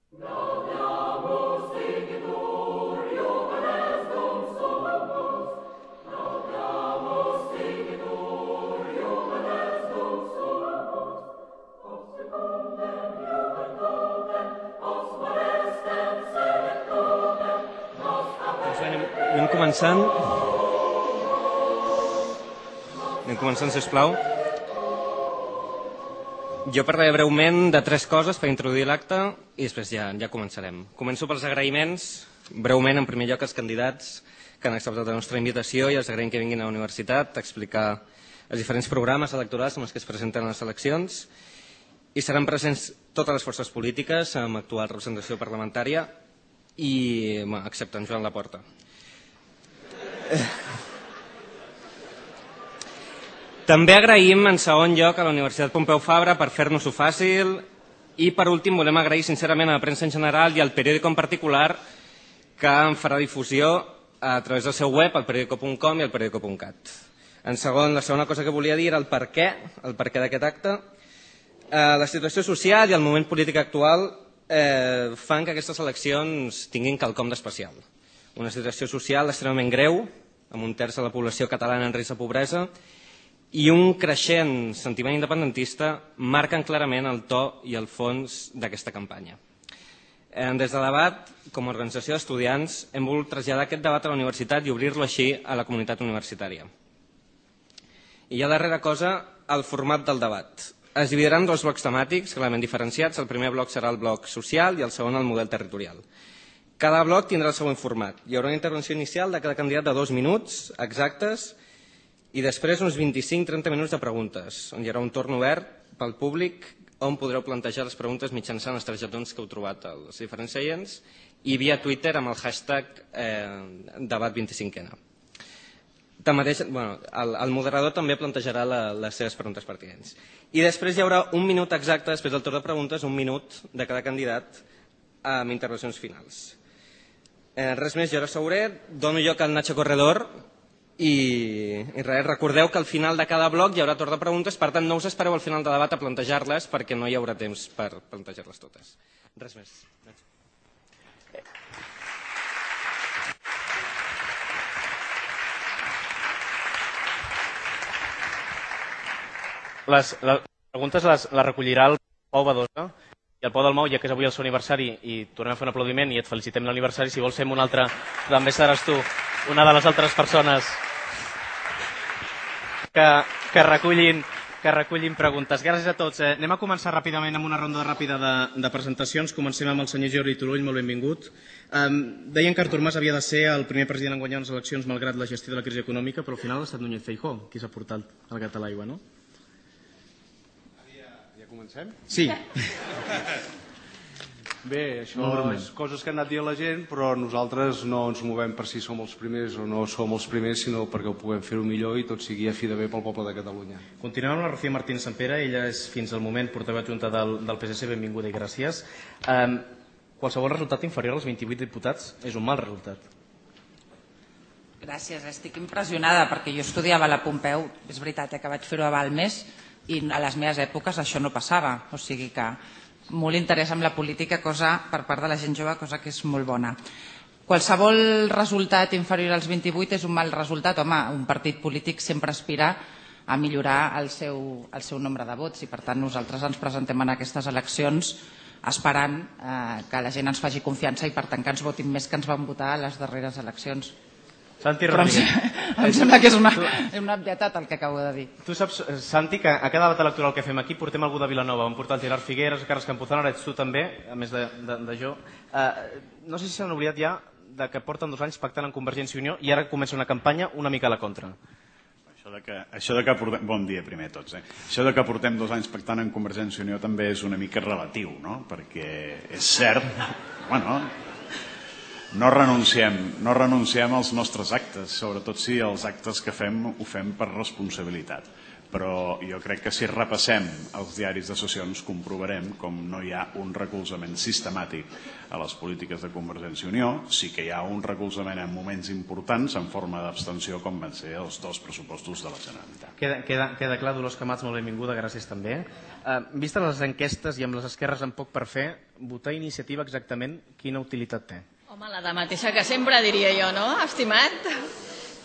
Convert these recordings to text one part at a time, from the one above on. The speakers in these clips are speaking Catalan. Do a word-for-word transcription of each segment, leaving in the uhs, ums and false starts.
Anem començant. Anem començant, sisplau. Jo parlaré breument de tres coses per introduir l'acte i després ja, ja començarem. Començo pels agraïments, breument, en primer lloc, als candidats que han acceptat la nostra invitació i els agraïm que vinguin a la universitat a explicar els diferents programes electorals amb els que es presenten a les eleccions i seran presents totes les forces polítiques amb actual representació parlamentària i, bueno, excepte en Joan Laporta. També agraïm, en segon lloc, a la Universitat Pompeu Fabra per fer-nos-ho fàcil i, per últim, volem agrair sincerament a la premsa en general i al periòdico en particular que en farà difusió a través del seu web, el periodico punt com i el periodico punt cat. En segon, la segona cosa que volia dir era el per què, el per què d'aquest acte. La situació social i el moment polític actual eh, fan que aquestes eleccions tinguin quelcom d'especial. Una situació social extremament greu, amb un terç de la població catalana en risc de pobresa, i un creixent sentiment independentista marquen clarament el to i el fons d'aquesta campanya. Des de debat, com a organització d'estudiants, hem volgut traslladar aquest debat a la universitat i obrir-lo així a la comunitat universitària. I ja darrera cosa, el format del debat. Es dividiran dos blocs temàtics clarament diferenciats. El primer bloc serà el bloc social i el segon el model territorial. Cada bloc tindrà el següent format. Hi haurà una intervenció inicial de cada candidat de dos minuts exactes i després uns vint-i-cinc a trenta minuts de preguntes, on hi haurà un torn obert pel públic on podreu plantejar les preguntes mitjançant els targetons que heu trobat als diferents seients i via Twitter amb el hashtag eh, debat vint-i-cinquena. Tanmateix, bueno, el, el moderador també plantejarà la, les seves preguntes pertinents. I després hi haurà un minut exacte, després del torn de preguntes, un minut de cada candidat amb intervencions finals. Eh, res més, jo ara Sauré, dono lloc al Nacho Corredor i, i res, recordeu que al final de cada bloc hi haurà torn de preguntes, per tant no us espereu al final de debat a plantejar-les perquè no hi haurà temps per plantejar-les totes. Res més. Les, les preguntes les, les recollirà el Pau Badosa i el Pau Dalmau, ja que és avui el seu aniversari i tornem a fer un aplaudiment i et felicitem l'aniversari, si vols fem un altre, també seràs tu una de les altres persones que, que, recullin, que recullin preguntes. Gràcies a tots. Eh, anem a començar ràpidament amb una ronda ràpida de, de presentacions. Comencem amb el senyor Jordi Turull, molt benvingut. Um, deien que Artur Mas havia de ser el primer president en guanyar les eleccions malgrat la gestió de la crisi econòmica, però al final ha estat Núñez Feijóo qui s'ha portat el gat a l'aigua, no? Comencem? Sí. Bé, això és coses que han anat dient la gent, però nosaltres no ens movem per si som els primers o no som els primers, sinó perquè ho puguem fer-ho millor i tot sigui a fi de bé pel poble de Catalunya. Continuem amb la Rocío Martínez Sampere, ella és fins al moment portaveu adjunta del, del P S C, benvinguda i gràcies. Um, qualsevol resultat inferior als vint-i-vuit diputats és un mal resultat. Gràcies, estic impressionada perquè jo estudiava a la Pompeu, és veritat que vaig fer-ho a Balmes, i a les meves èpoques això no passava, o sigui que molt interès en la política, cosa per part de la gent jove, cosa que és molt bona. Qualsevol resultat inferior als vint-i-vuit és un mal resultat. Home, un partit polític sempre aspira a millorar el seu, el seu nombre de vots i per tant nosaltres ens presentem en aquestes eleccions esperant eh, que la gent ens faci confiança i per tant que ens votin més que ens van votar a les darreres eleccions. Santi Però Rodríguez. em, em sembla que és una, una obvietat el que acabo de dir. Tu saps, Santi, que a cada debat electoral que fem aquí portem algú de Vilanova. Vam portar el Gerard Figueres, el Carles Campuzano, ara ets tu també, a més de, de, de jo. Uh, no sé si s'han oblidat ja de que porten dos anys pactant amb Convergència i Unió i ara comença una campanya una mica a la contra. Això de que, això de que portem, bon dia primer a tots. Eh? Això de que portem dos anys pactant amb Convergència i Unió també és una mica relatiu, no? Perquè és cert, bueno, no renunciem, no renunciem als nostres actes, sobretot si els actes que fem ho fem per responsabilitat. però jo crec que si repassem els diaris de sessions comprovarem com no hi ha un recolzament sistemàtic a les polítiques de Convergència i Unió. Sí que hi ha un recolzament en moments importants en forma d'abstenció, com van ser els dos pressupostos de la Generalitat. Queda, queda, queda clar, Dolors Camats, molt benvinguda, gràcies també. Uh, vistes les enquestes i amb les esquerres amb poc per fer, votar iniciativa exactament quina utilitat té? Home, la de mateixa que sempre diria jo, no, estimat?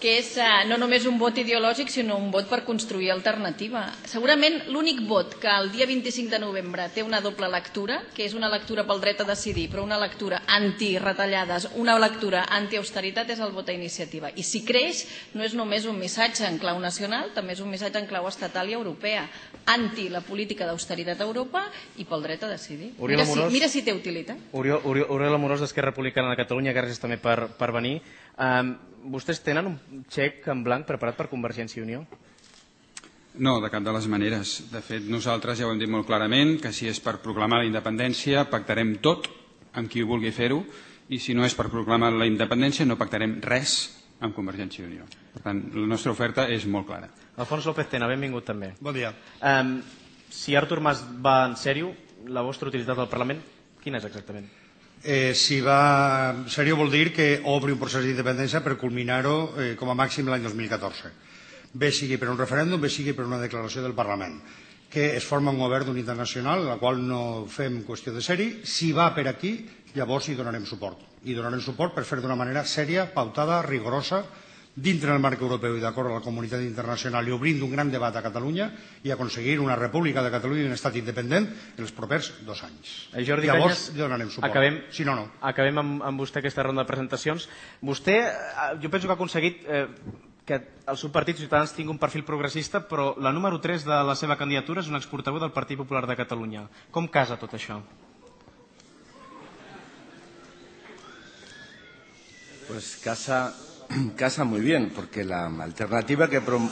Que és uh, no només un vot ideològic, sinó un vot per construir alternativa. Segurament l'únic vot que el dia vint-i-cinc de novembre té una doble lectura, que és una lectura pel dret a decidir, però una lectura anti-retallades, una lectura anti-austeritat, és el vot a iniciativa. I si creix, no és només un missatge en clau nacional, també és un missatge en clau estatal i europea, anti la política d'austeritat a Europa i pel dret a decidir. Mira si, mira si té utilitat. Oriol, Oriol, Oriol Amorós, d'Esquerra Republicana de Catalunya, gràcies també per, per venir. Um, vostès tenen un xec en blanc preparat per Convergència i Unió? No, de cap de les maneres. De fet, nosaltres ja ho hem dit molt clarament, que si és per proclamar la independència pactarem tot amb qui vulgui fer-ho, i si no és per proclamar la independència no pactarem res amb Convergència i Unió. Per tant, la nostra oferta és molt clara. Alfons López Tena, benvingut també. Bon dia. Um, si Artur Mas va en sèrio, la vostra utilitat al Parlament, quina és exactament? Eh, si va en sèrio vol dir que obri un procés d'independència per culminar-ho eh, com a màxim l'any dos mil catorze. Bé sigui per un referèndum, bé sigui per una declaració del Parlament. Que es forma un govern d'unitat nacional, la qual no fem qüestió de ser-hi. Si va per aquí, llavors hi donarem suport. I donarem suport per fer d'una manera sèria, pautada, rigorosa, dintre del marc europeu i d'acord amb la comunitat internacional i obrint un gran debat a Catalunya i aconseguir una república de Catalunya i un estat independent en els propers dos anys. Eh, Jordi Llavors Cañas, donarem suport. Acabem, si no, no. Acabem amb, amb vostè aquesta ronda de presentacions. Vostè, jo penso que ha aconseguit eh, que el seu partit, Ciutadans, tingui un perfil progressista, però la número tres de la seva candidatura és un exportaveu del Partit Popular de Catalunya. Com casa tot això? Pues casa... casa muy bien, porque la alternativa que... Prom...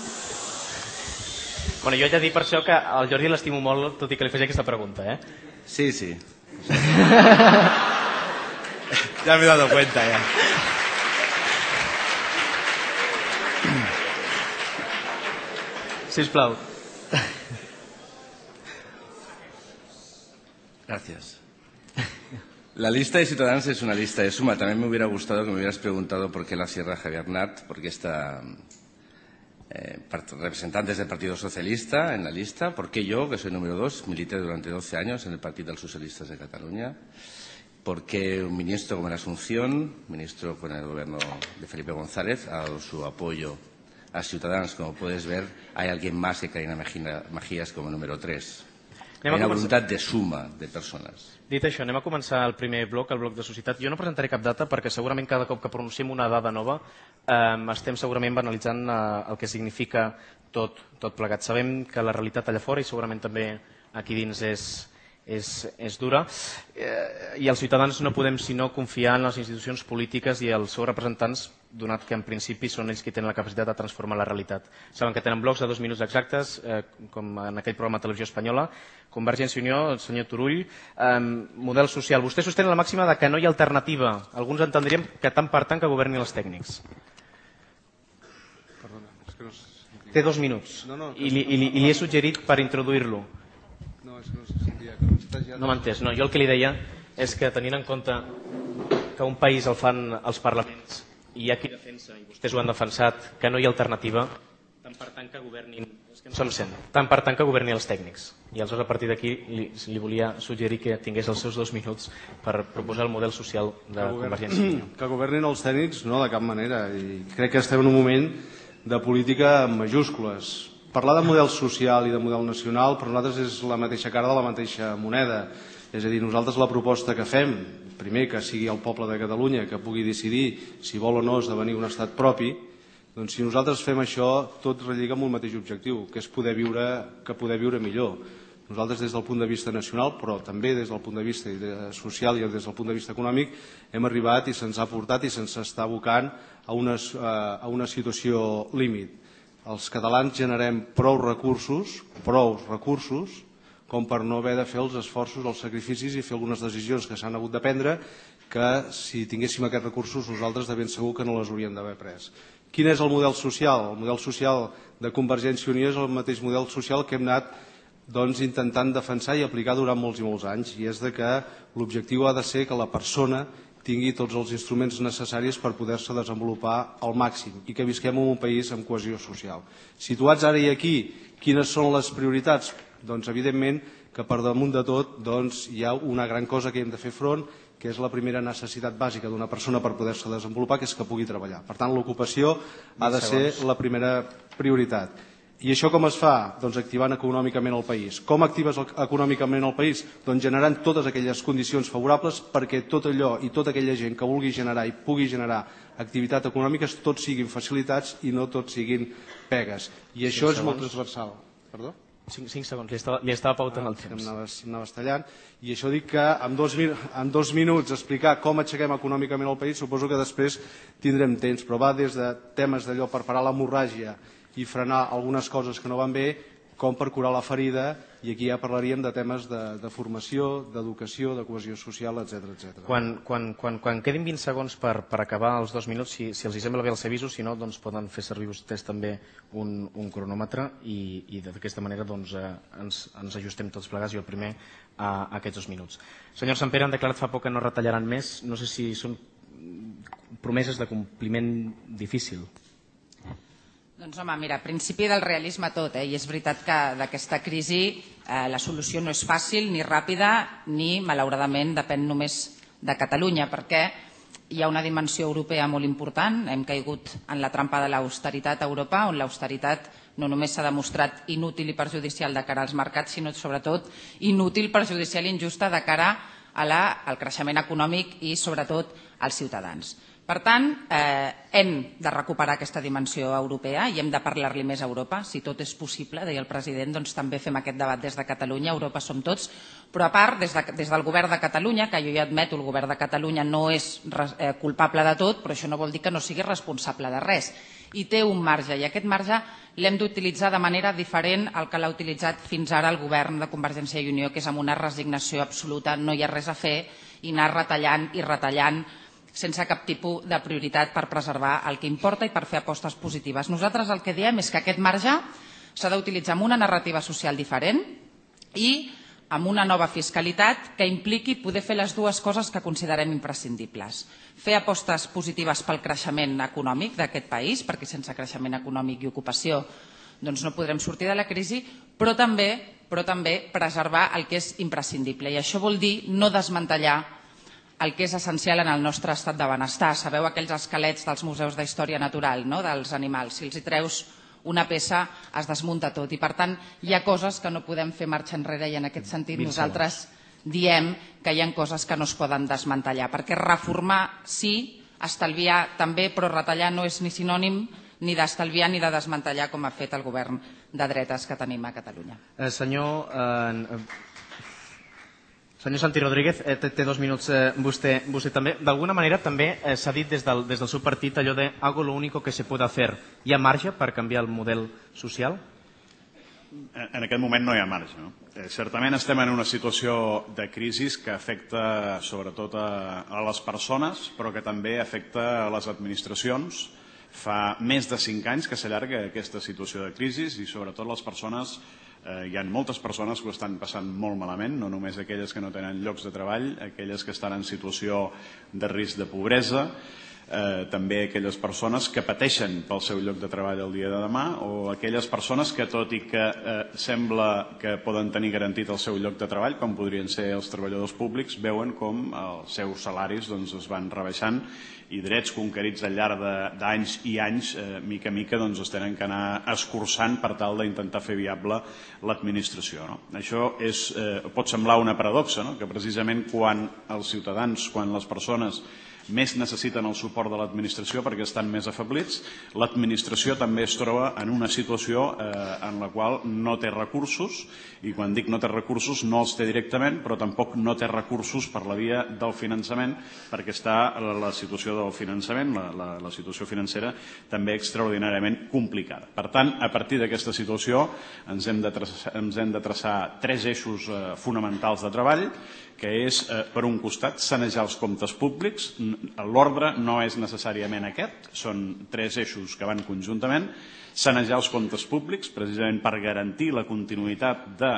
Bueno, jo he de dir per això que al Jordi l'estimo molt, tot i que li faig aquesta pregunta, eh? Sí, sí. Ya me he dado cuenta, ya. Sisplau. Gracias. La lista de Ciudadanos es una lista de suma. También me hubiera gustado que me hubieras preguntado por qué la Sierra Javier Nart, por qué está eh, representantes del Partido Socialista en la lista, por qué yo, que soy número dos, milité durante doce años en el Partido de los Socialistas de Cataluña, por qué un ministro como la Asunción, ministro con el gobierno de Felipe González, ha dado su apoyo a Ciudadanos. Como puedes ver, hay alguien más que Carina Mejías como número tres. Hay una voluntat de suma de persones. Dit això, anem a començar el primer bloc, el bloc de societat. Jo no presentaré cap data perquè segurament cada cop que pronunciem una dada nova eh, estem segurament banalitzant eh, el que significa tot, tot plegat. Sabem que la realitat allà fora i segurament també aquí dins és, és, és dura eh, i els ciutadans no podem sinó confiar en les institucions polítiques i els seus representants, donat que en principi són ells qui tenen la capacitat de transformar la realitat. Saben que tenen blocs de dos minuts exactes, eh, com en aquell programa de televisió espanyola. Convergència i Unió, el senyor Turull, eh, model social. Vostès sostenen la màxima de que no hi ha alternativa. Alguns entendríem que tant per tant que governin els tècnics. Perdona, és que no... Té dos minuts no, no, i, li, i, li, i li he suggerit per introduir-lo. No, és que no se sentia. Que no ja... No m'ha entès. No, jo el que li deia és que tenint en compte que un país el fan els parlaments i hi ha qui defensa, i vostès ho han defensat, que no hi ha alternativa, tant per tant que governin, és que no se'm sent, tant per tant que governin els tècnics. I aleshores a partir d'aquí li, li volia suggerir que tingués els seus dos minuts per proposar el model social de Convergència i Unió. Que governin els tècnics, no, de cap manera. I crec que estem en un moment de política en majúscules. Parlar de model social i de model nacional per nosaltres és la mateixa cara de la mateixa moneda. És a dir, nosaltres la proposta que fem, primer que sigui el poble de Catalunya que pugui decidir si vol o no esdevenir un estat propi, doncs si nosaltres fem això tot relliga amb un mateix objectiu, que és poder viure, que poder viure millor. Nosaltres des del punt de vista nacional, però també des del punt de vista social i des del punt de vista econòmic, hem arribat i se'ns ha portat i se'ns està abocant a una, a una situació límit. Els catalans generem prou recursos, prou recursos, com per no haver de fer els esforços, els sacrificis i fer algunes decisions que s'han hagut de prendre que si tinguéssim aquests recursos nosaltres de ben segur que no les hauríem d'haver pres. Quin és el model social? El model social de Convergència i Unió és el mateix model social que hem anat doncs, intentant defensar i aplicar durant molts i molts anys, i és de que l'objectiu ha de ser que la persona tingui tots els instruments necessaris per poder-se desenvolupar al màxim i que visquem en un país amb cohesió social. Situats ara i aquí, quines són les prioritats? Doncs evidentment que per damunt de tot doncs, hi ha una gran cosa que hem de fer front, que és la primera necessitat bàsica d'una persona per poder-se desenvolupar, que és que pugui treballar. Per tant, l'ocupació ha de ser la primera prioritat. I això com es fa? Doncs activant econòmicament el país. Com actives econòmicament el país? Doncs generant totes aquelles condicions favorables perquè tot allò i tota aquella gent que vulgui generar i pugui generar activitat econòmica tots siguin facilitats i no tots siguin pegues. I això és molt transversal. Perdó? cinc segons, li estava, li estava pautant el temps. Em anaves tallant. I això dic que en dos, en dos minuts explicar com aixequem econòmicament el país, suposo que després tindrem temps, però va des de temes d'allò per parar l'hemorràgia i frenar algunes coses que no van bé, com per curar la ferida, i aquí ja parlaríem de temes de, de formació, d'educació, de cohesió social, etcètera, etcètera. Quan, quan, quan, quan quedin vint segons per, per acabar els dos minuts, si, si els hi sembla bé els avisos, si no, doncs poden fer servir vostès també un, un cronòmetre i, i d'aquesta manera doncs, eh, ens, ens ajustem tots plegats, jo el primer, a, a aquests dos minuts. Senyor Santpere, han declarat fa poc que no retallaran més. No sé si són promeses de compliment difícil. Doncs home, mira, principi del realisme tot, eh? I és veritat que d'aquesta crisi eh, la solució no és fàcil, ni ràpida, ni, malauradament, depèn només de Catalunya, perquè hi ha una dimensió europea molt important. Hem caigut en la trampa de l'austeritat a Europa, on l'austeritat no només s'ha demostrat inútil i perjudicial de cara als mercats, sinó sobretot inútil, perjudicial i injusta de cara a la, al creixement econòmic i sobretot als ciutadans. Per tant, eh, hem de recuperar aquesta dimensió europea i hem de parlar-li més a Europa. Si tot és possible, deia el president, doncs també fem aquest debat des de Catalunya. Europa som tots. Però a part, des, de, des del govern de Catalunya, que jo ja admeto, el govern de Catalunya no és eh, culpable de tot, però això no vol dir que no sigui responsable de res. I té un marge, i aquest marge l'hem d'utilitzar de manera diferent al que l'ha utilitzat fins ara el govern de Convergència i Unió, que és amb una resignació absoluta, no hi ha res a fer, i anar retallant i retallant sense cap tipus de prioritat per preservar el que importa i per fer apostes positives. Nosaltres el que diem és que aquest marge s'ha d'utilitzar amb una narrativa social diferent i amb una nova fiscalitat que impliqui poder fer les dues coses que considerem imprescindibles. Fer apostes positives pel creixement econòmic d'aquest país, perquè sense creixement econòmic i ocupació doncs no podrem sortir de la crisi, però també, però també preservar el que és imprescindible. I això vol dir no desmantellar el que és essencial en el nostre estat de benestar. Sabeu aquells esquelets dels museus d'història natural, no?, dels animals. Si els hi treus una peça es desmunta tot i, per tant, hi ha coses que no podem fer marxa enrere i en aquest sentit nosaltres diem que hi ha coses que no es poden desmantellar, perquè reformar sí, estalviar també, però retallar no és ni sinònim ni d'estalviar ni de desmantellar com ha fet el govern de dretes que tenim a Catalunya. Eh, senyor... Eh, Senyor Santi Rodríguez, eh, té, té dos minuts eh, vostè, vostè també. D'alguna manera també eh, s'ha dit des del, des del seu partit allò de hago lo único que se puede hacer. Hi ha marge per canviar el model social? En, en aquest moment no hi ha marge. No? Eh, certament estem en una situació de crisi que afecta sobretot a, a les persones, però que també afecta a les administracions. Fa més de cinc anys que s'allarga aquesta situació de crisi i sobretot les persones. Eh, hi ha moltes persones que ho estan passant molt malament, no només aquelles que no tenen llocs de treball, aquelles que estan en situació de risc de pobresa, eh, també aquelles persones que pateixen pel seu lloc de treball el dia de demà o aquelles persones que, tot i que eh, sembla que poden tenir garantit el seu lloc de treball, com podrien ser els treballadors públics, veuen com els seus salaris doncs, es van rebaixant i drets conquerits al llarg d'anys i anys, eh, mica a mica, doncs, es tenen que anar escurçant per tal d'intentar fer viable l'administració. No? Això és, eh, pot semblar una paradoxa, no? Que precisament quan els ciutadans, quan les persones més necessiten el suport de l'administració perquè estan més afeblits. L'administració també es troba en una situació en la qual no té recursos, i quan dic no té recursos no els té directament, però tampoc no té recursos per la via del finançament, perquè està la situació del finançament, la, la, la situació financera també extraordinàriament complicada. Per tant, a partir d'aquesta situació ens hem de traçar, ens hem de traçar tres eixos eh, fonamentals de treball, que és, eh, per un costat, sanejar els comptes públics. L'ordre no és necessàriament aquest, són tres eixos que van conjuntament. Sanejar els comptes públics, precisament per garantir la continuïtat de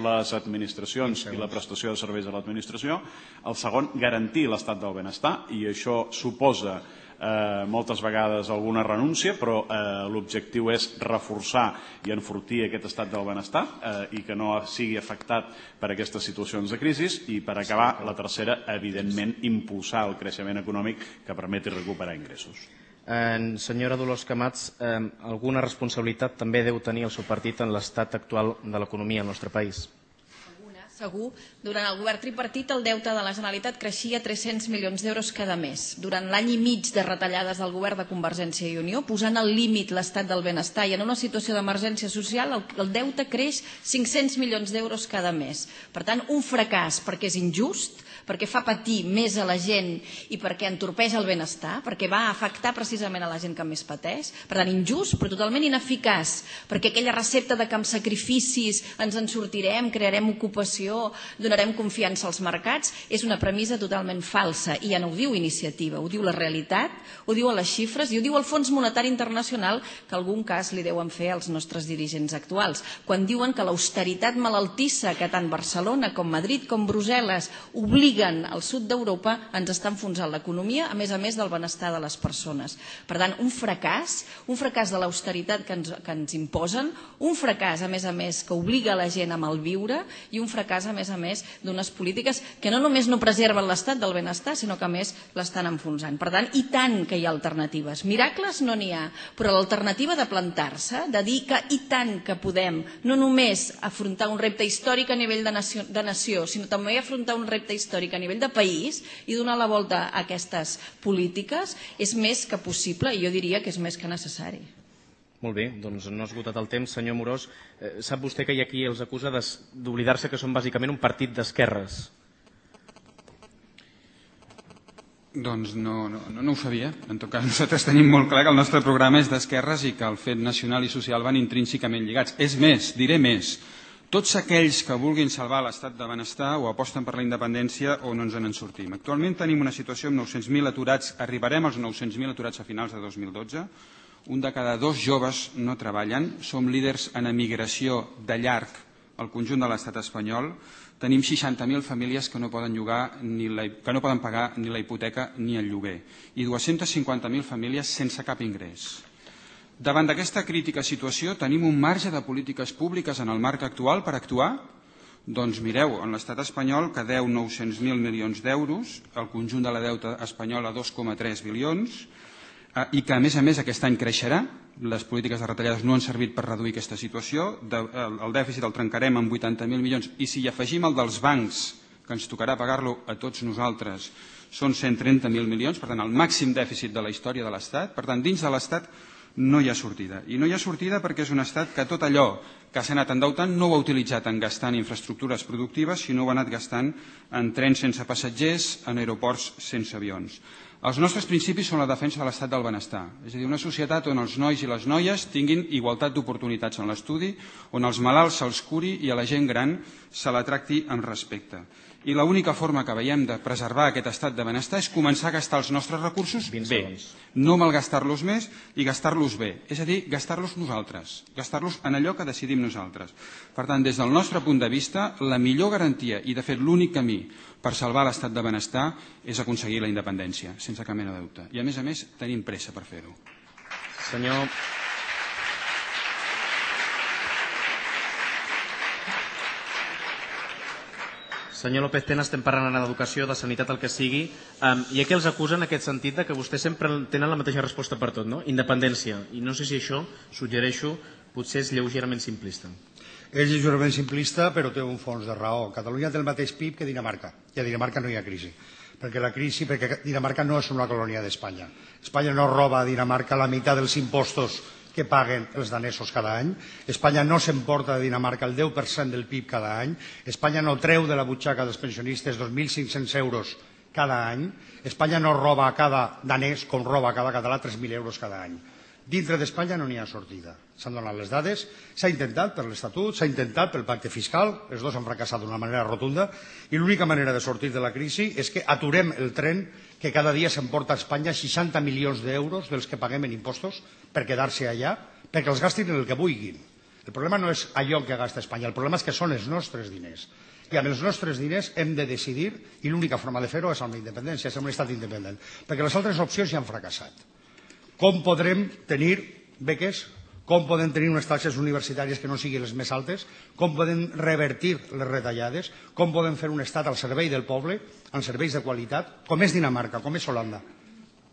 les administracions i la prestació de serveis a l'administració. El segon, garantir l'estat del benestar, i això suposa Eh, moltes vegades alguna renúncia, però eh, l'objectiu és reforçar i enfortir aquest estat del benestar eh, i que no sigui afectat per aquestes situacions de crisi. I per acabar, la tercera, evidentment, impulsar el creixement econòmic que permeti recuperar ingressos. Eh, senyora Dolors Camats, eh, alguna responsabilitat també deu tenir el seu partit en l'estat actual de l'economia al nostre país? Segur, durant el govern tripartit el deute de la Generalitat creixia tres-cents milions d'euros cada mes. Durant l'any i mig de retallades del govern de Convergència i Unió, posant al límit l'estat del benestar i en una situació d'emergència social, el, el deute creix cinc-cents milions d'euros cada mes. Per tant, un fracàs perquè és injust, perquè fa patir més a la gent i perquè entorpeix el benestar, perquè va afectar precisament a la gent que més pateix. Per tant, injust, però totalment ineficaç, perquè aquella recepta de que amb sacrificis ens en sortirem, crearem ocupació, donarem confiança als mercats, és una premissa totalment falsa. I ja no ho diu Iniciativa, ho diu la realitat, ho diuen les xifres i ho diu el Fons Monetari Internacional, que algun cas li deuen fer als nostres dirigents actuals, quan diuen que l'austeritat malaltissa que tant Barcelona com Madrid com Brussel·les obliguen al sud d'Europa ens està enfonsant l'economia, a més a més del benestar de les persones. Per tant, un fracàs, un fracàs de l'austeritat que ens, que ens imposen, un fracàs, a més a més, que obliga la gent a malviure i un fracàs, a més a més, d'unes polítiques que no només no preserven l'estat del benestar, sinó que a més l'estan enfonsant. Per tant, i tant que hi ha alternatives. Miracles no n'hi ha, però l'alternativa de plantar-se, de dir que i tant que podem no només afrontar un repte històric a nivell de nació, de nació sinó també afrontar un repte històric a nivell de país i donar la volta a aquestes polítiques és més que possible i jo diria que és més que necessari. Molt bé, doncs no ha esgotat el temps. Senyor Amorós, eh, sap vostè que hi ha qui els acusa d'oblidar-se que són bàsicament un partit d'esquerres? Doncs no, no, no ho sabia. En tot cas, nosaltres tenim molt clar que el nostre programa és d'esquerres i que el fet nacional i social van intrínsecament lligats. És més, diré més. Tots aquells que vulguin salvar l'estat de benestar o aposten per la independència o no ens en sortim. Actualment tenim una situació amb nou-cents mil aturats, arribarem als nou-cents mil aturats a finals de dos mil dotze, un de cada dos joves no treballen, som líders en emigració de llarg al conjunt de l'estat espanyol, tenim seixanta mil famílies que no poden llogar ni la, que no poden pagar ni la hipoteca ni el lloguer i dues-centes cinquanta mil famílies sense cap ingrés. Davant d'aquesta crítica situació tenim un marge de polítiques públiques en el marc actual per actuar? Doncs mireu, en l'estat espanyol que deu nou-cents mil milions d'euros, el conjunt de la deuta espanyola dos coma tres bilions, i que a més a més aquest any creixerà, les polítiques de retallades no han servit per reduir aquesta situació, el dèficit el trencarem en vuitanta mil milions i si hi afegim el dels bancs, que ens tocarà pagar-lo a tots nosaltres, són cent trenta mil milions, per tant el màxim dèficit de la història de l'Estat, per tant dins de l'Estat no hi ha sortida. I no hi ha sortida perquè és un estat que tot allò que s'ha anat endeutant no ho ha utilitzat en gastar en infraestructures productives, sinó ho ha anat gastant en trens sense passatgers, en aeroports sense avions. Els nostres principis són la defensa de l'estat del benestar, és a dir, una societat on els nois i les noies tinguin igualtat d'oportunitats en l'estudi, on els malalts se'ls curi i a la gent gran se la tracti amb respecte. I l'única forma que veiem de preservar aquest estat de benestar és començar a gastar els nostres recursos bé, no malgastar-los més i gastar-los bé, és a dir, gastar-los nosaltres, gastar-los en allò que decidim nosaltres. Per tant, des del nostre punt de vista, la millor garantia i, de fet, l'únic camí per salvar l'estat de benestar és aconseguir la independència, sense cap mena de dubte. I, a més a més, tenim pressa per fer-ho. Senyor... Senyor López Tena, estem parlant d'educació, de sanitat, el que sigui. Um, hi ha qui els acusa en aquest sentit de que vostès sempre tenen la mateixa resposta per tot, no? Independència. I no sé si això, suggereixo, potser és lleugerament simplista. És lleugerament simplista, però té un fons de raó. Catalunya té el mateix P I B que Dinamarca. I a Dinamarca no hi ha crisi. perquè la crisi, perquè Dinamarca no és una colònia d'Espanya. Espanya no roba a Dinamarca la meitat dels impostos que paguen els danesos cada any. Espanya no s'emporta de Dinamarca el deu per cent del P I B cada any. Espanya no treu de la butxaca dels pensionistes dos mil cinc-cents euros cada any. Espanya no roba a cada danès com roba a cada català tres mil euros cada any. Dintre d'Espanya no n'hi ha sortida. S'han donat les dades, s'ha intentat per l'Estatut, s'ha intentat pel pacte fiscal, els dos han fracassat d'una manera rotunda, i l'única manera de sortir de la crisi és que aturem el tren que cada dia s'emporta a Espanya seixanta milions d'euros dels que paguem en impostos per quedar-se allà, perquè els gastin en el que vulguin. El problema no és allò que gasta Espanya, el problema és que són els nostres diners. I amb els nostres diners hem de decidir, i l'única forma de fer-ho és amb la independència, és amb un estat independent, perquè les altres opcions ja han fracassat. Com podrem tenir beques, com podem tenir unes taxes universitàries que no siguin les més altes, com podem revertir les retallades, com podem fer un estat al servei del poble, amb serveis de qualitat, com és Dinamarca, com és Holanda.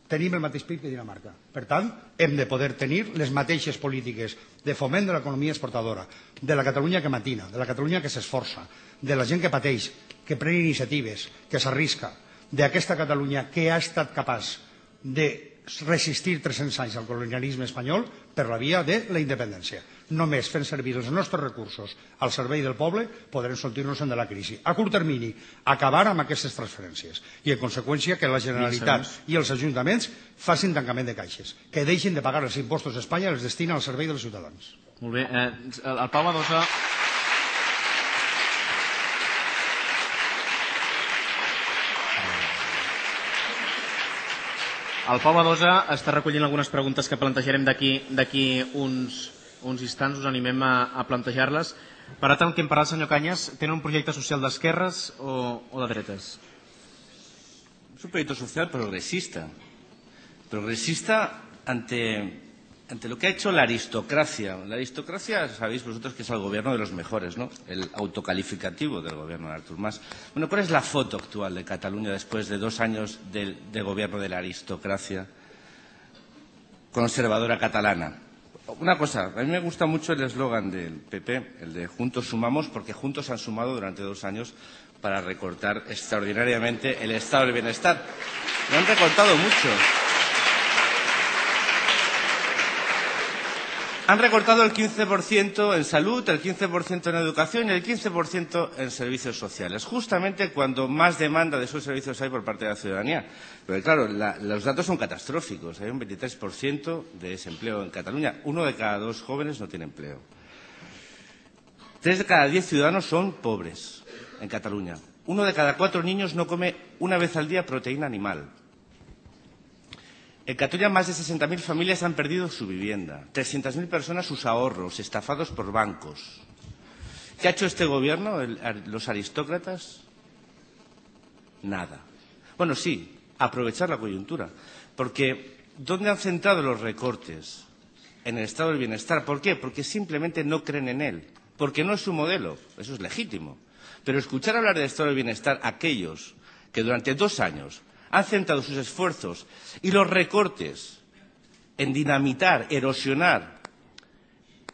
Tenim el mateix P I B que Dinamarca. Per tant, hem de poder tenir les mateixes polítiques de foment de l'economia exportadora, de la Catalunya que matina, de la Catalunya que s'esforça, de la gent que pateix, que pren iniciatives, que s'arrisca, d'aquesta Catalunya que ha estat capaç de resistir tres-cents anys al colonialisme espanyol per la via de la independència. Només fent servir els nostres recursos al servei del poble podrem sortir-nos de la crisi. A curt termini, acabar amb aquestes transferències i, en conseqüència, que la Generalitat i els ajuntaments facin tancament de caixes, que deixin de pagar els impostos d'Espanya i els destinen al servei dels ciutadans. Molt bé. Eh, el Pau Badosa... El Pau Badosa està recollint algunes preguntes que plantejarem d'aquí uns, uns instants, us animem a, a plantejar-les. Per tant, el que hem parlat, senyor Cañas, tenen un projecte social d'esquerres o, o de dretes? Es un proyecto social progresista. Progresista ante, ante lo que ha hecho la aristocracia. La aristocracia, sabéis vosotros que es el gobierno de los mejores, ¿no? El autocalificativo del gobierno de Artur Mas. Bueno, ¿cuál es la foto actual de Cataluña después de dos años de, de gobierno de la aristocracia conservadora catalana? Una cosa, a mí me gusta mucho el eslogan del P P, el de Juntos sumamos, porque juntos han sumado durante dos años para recortar extraordinariamente el estado del bienestar. Lo han recortado mucho. Han recortado el quince por ciento en salud, el quince por ciento en educación y el quince por ciento en servicios sociales, justamente cuando más demanda de esos servicios hay por parte de la ciudadanía. Pero claro, la, los datos son catastróficos. Hay un veintitrés por ciento de desempleo en Cataluña. Uno de cada dos jóvenes no tiene empleo. Tres de cada diez ciudadanos son pobres en Cataluña. Uno de cada cuatro niños no come una vez al día proteína animal. En Cataluña más de sesenta mil familias han perdido su vivienda, trescientas mil personas sus ahorros, estafados por bancos. ¿Qué ha hecho este gobierno, el, los aristócratas? Nada. Bueno, sí, aprovechar la coyuntura, porque ¿dónde han centrado los recortes? En el estado del bienestar. ¿Por qué? Porque simplemente no creen en él, porque no es su modelo, eso es legítimo. Pero escuchar hablar del estado del bienestar a aquellos que durante dos años han centrado sus esfuerzos y los recortes en dinamitar, erosionar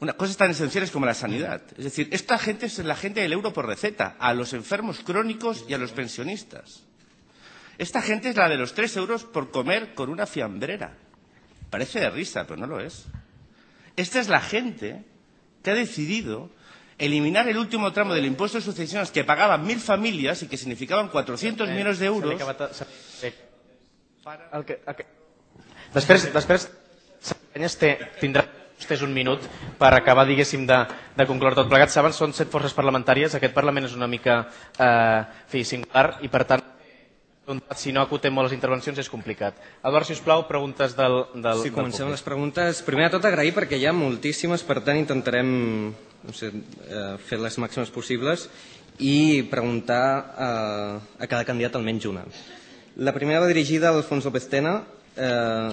una, cosas tan esenciales como la sanidad. Es decir, esta gente es la gente del euro por receta, a los enfermos crónicos y a los pensionistas. Esta gente es la de los tres euros por comer con una fiambrera. Parece de risa, pero no lo es. Esta es la gente que ha decidido eliminar el último tramo del impuesto de sucesiones que pagaban mil familias y que significaban cuatrocientos millones de euros. El que, el que... Després, després té, tindrà vostès un minut per acabar, diguéssim, de, de concloure tot plegat. Saben, són set forces parlamentàries, aquest Parlament és una mica eh, fi, singular i, per tant, si no acotem molt les intervencions és complicat. Eduard, sisplau, preguntes del, del Sí, comencem del les preguntes. Primer de tot, agrair perquè hi ha moltíssimes, per tant intentarem no sé, fer les màximes possibles i preguntar a, a cada candidat almenys una. La primera va dirigida al Alfons López Tena. Eh,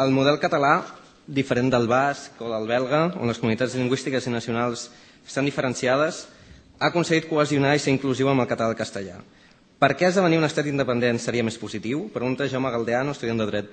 el model català, diferent del basc o del belga, on les comunitats lingüístiques i nacionals estan diferenciades, ha aconseguit cohesionar i ser inclusiu amb el català i el castellà. Per què esdevenir un estat independent seria més positiu? Pregunta Jaume Galdeano, estudiant de dret.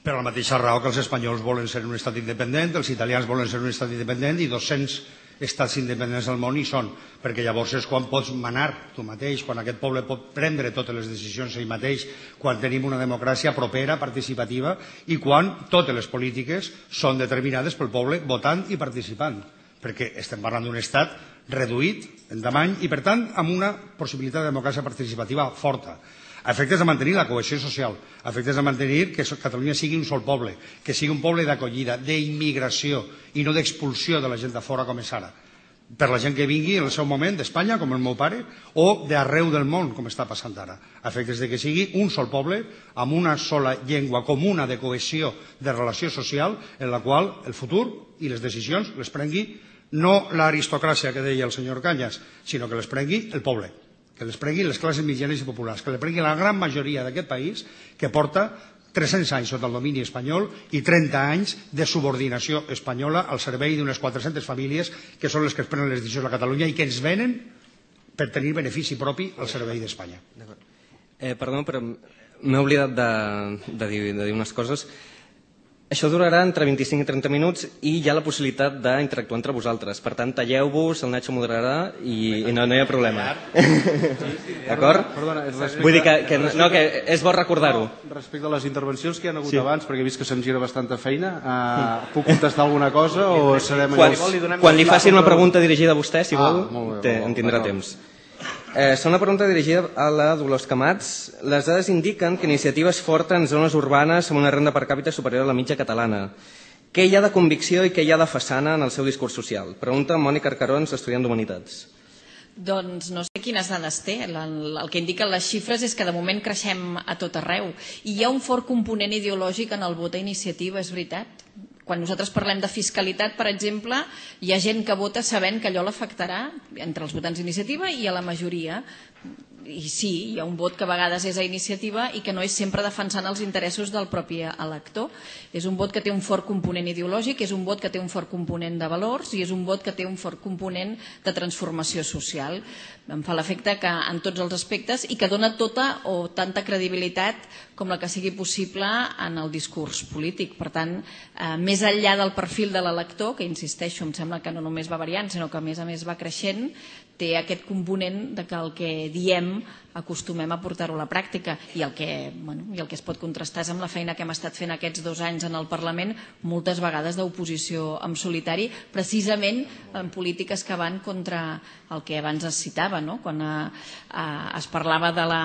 Per la mateixa raó que els espanyols volen ser un estat independent, els italians volen ser un estat independent i dos-cents estats independents del món i són, perquè llavors és quan pots manar tu mateix, quan aquest poble pot prendre totes les decisions ell mateix, quan tenim una democràcia propera, participativa i quan totes les polítiques són determinades pel poble votant i participant, perquè estem parlant d'un estat reduït en tamany i, per tant, amb una possibilitat de democràcia participativa forta, a efectes de mantenir la cohesió social, a efectes de mantenir que Catalunya sigui un sol poble, que sigui un poble d'acollida, d'immigració i no d'expulsió de la gent de fora com és ara, per la gent que vingui en el seu moment d'Espanya, com el meu pare, o d'arreu del món, com està passant ara, a efectes de que sigui un sol poble amb una sola llengua comuna de cohesió, de relació social, en la qual el futur i les decisions les prengui no l'aristocràcia que deia el senyor Cañas, sinó que les prengui el poble, que les prengui les classes mitjanes i populars, que les prengui la gran majoria d'aquest país que porta tres-cents anys sota el domini espanyol i trenta anys de subordinació espanyola al servei d'unes quatre-centes famílies que són les que es prenen les decisions a Catalunya i que ens venen per tenir benefici propi al servei d'Espanya. Eh, perdó, però m'he oblidat de, de, dir, de dir unes coses. Això durarà entre vint-i-cinc i trenta minuts i hi ha la possibilitat d'interactuar entre vosaltres. Per tant, talleu-vos, el Nacho moderarà i, i no, no hi ha problema. D'acord? Vull dir que, que, no, que és bo recordar-ho. Respecte a les intervencions que hi ha hagut sí. abans, perquè he vist que se'm gira bastanta feina, uh, puc contestar alguna cosa o serem... Quan, quan li facin una pregunta dirigida a vostè, si vol, ah, té, en tindrà temps. Eh, segona pregunta dirigida a la Dolors Camats. Les dades indiquen que Iniciativa és forta en zones urbanes amb una renda per càpita superior a la mitja catalana. Què hi ha de convicció i què hi ha de façana en el seu discurs social? Pregunta Mònica Arcarons, estudiant d'Humanitats. Doncs no sé quines dades té. El, el que indiquen les xifres és que de moment creixem a tot arreu. I hi ha un fort component ideològic en el vot a Iniciativa, és veritat. Quan nosaltres parlem de fiscalitat, per exemple, hi ha gent que vota sabent que allò l'afectarà entre els votants d'Iniciativa i a la majoria. I sí, hi ha un vot que a vegades és a Iniciativa i que no és sempre defensant els interessos del propi elector. És un vot que té un fort component ideològic, és un vot que té un fort component de valors i és un vot que té un fort component de transformació social. Em fa l'efecte que en tots els aspectes i que dona tota o tanta credibilitat com la que sigui possible en el discurs polític. Per tant, eh, més enllà del perfil de l'elector, que insisteixo, em sembla que no només va variant, sinó que a més a més va creixent, té aquest component de que el que diem acostumem a portar-ho a la pràctica i el, que, bueno, i el que es pot contrastar és amb la feina que hem estat fent aquests dos anys en el Parlament, moltes vegades d'oposició en solitari, precisament en polítiques que van contra el que abans es citava, no? Quan eh, eh, es parlava de la,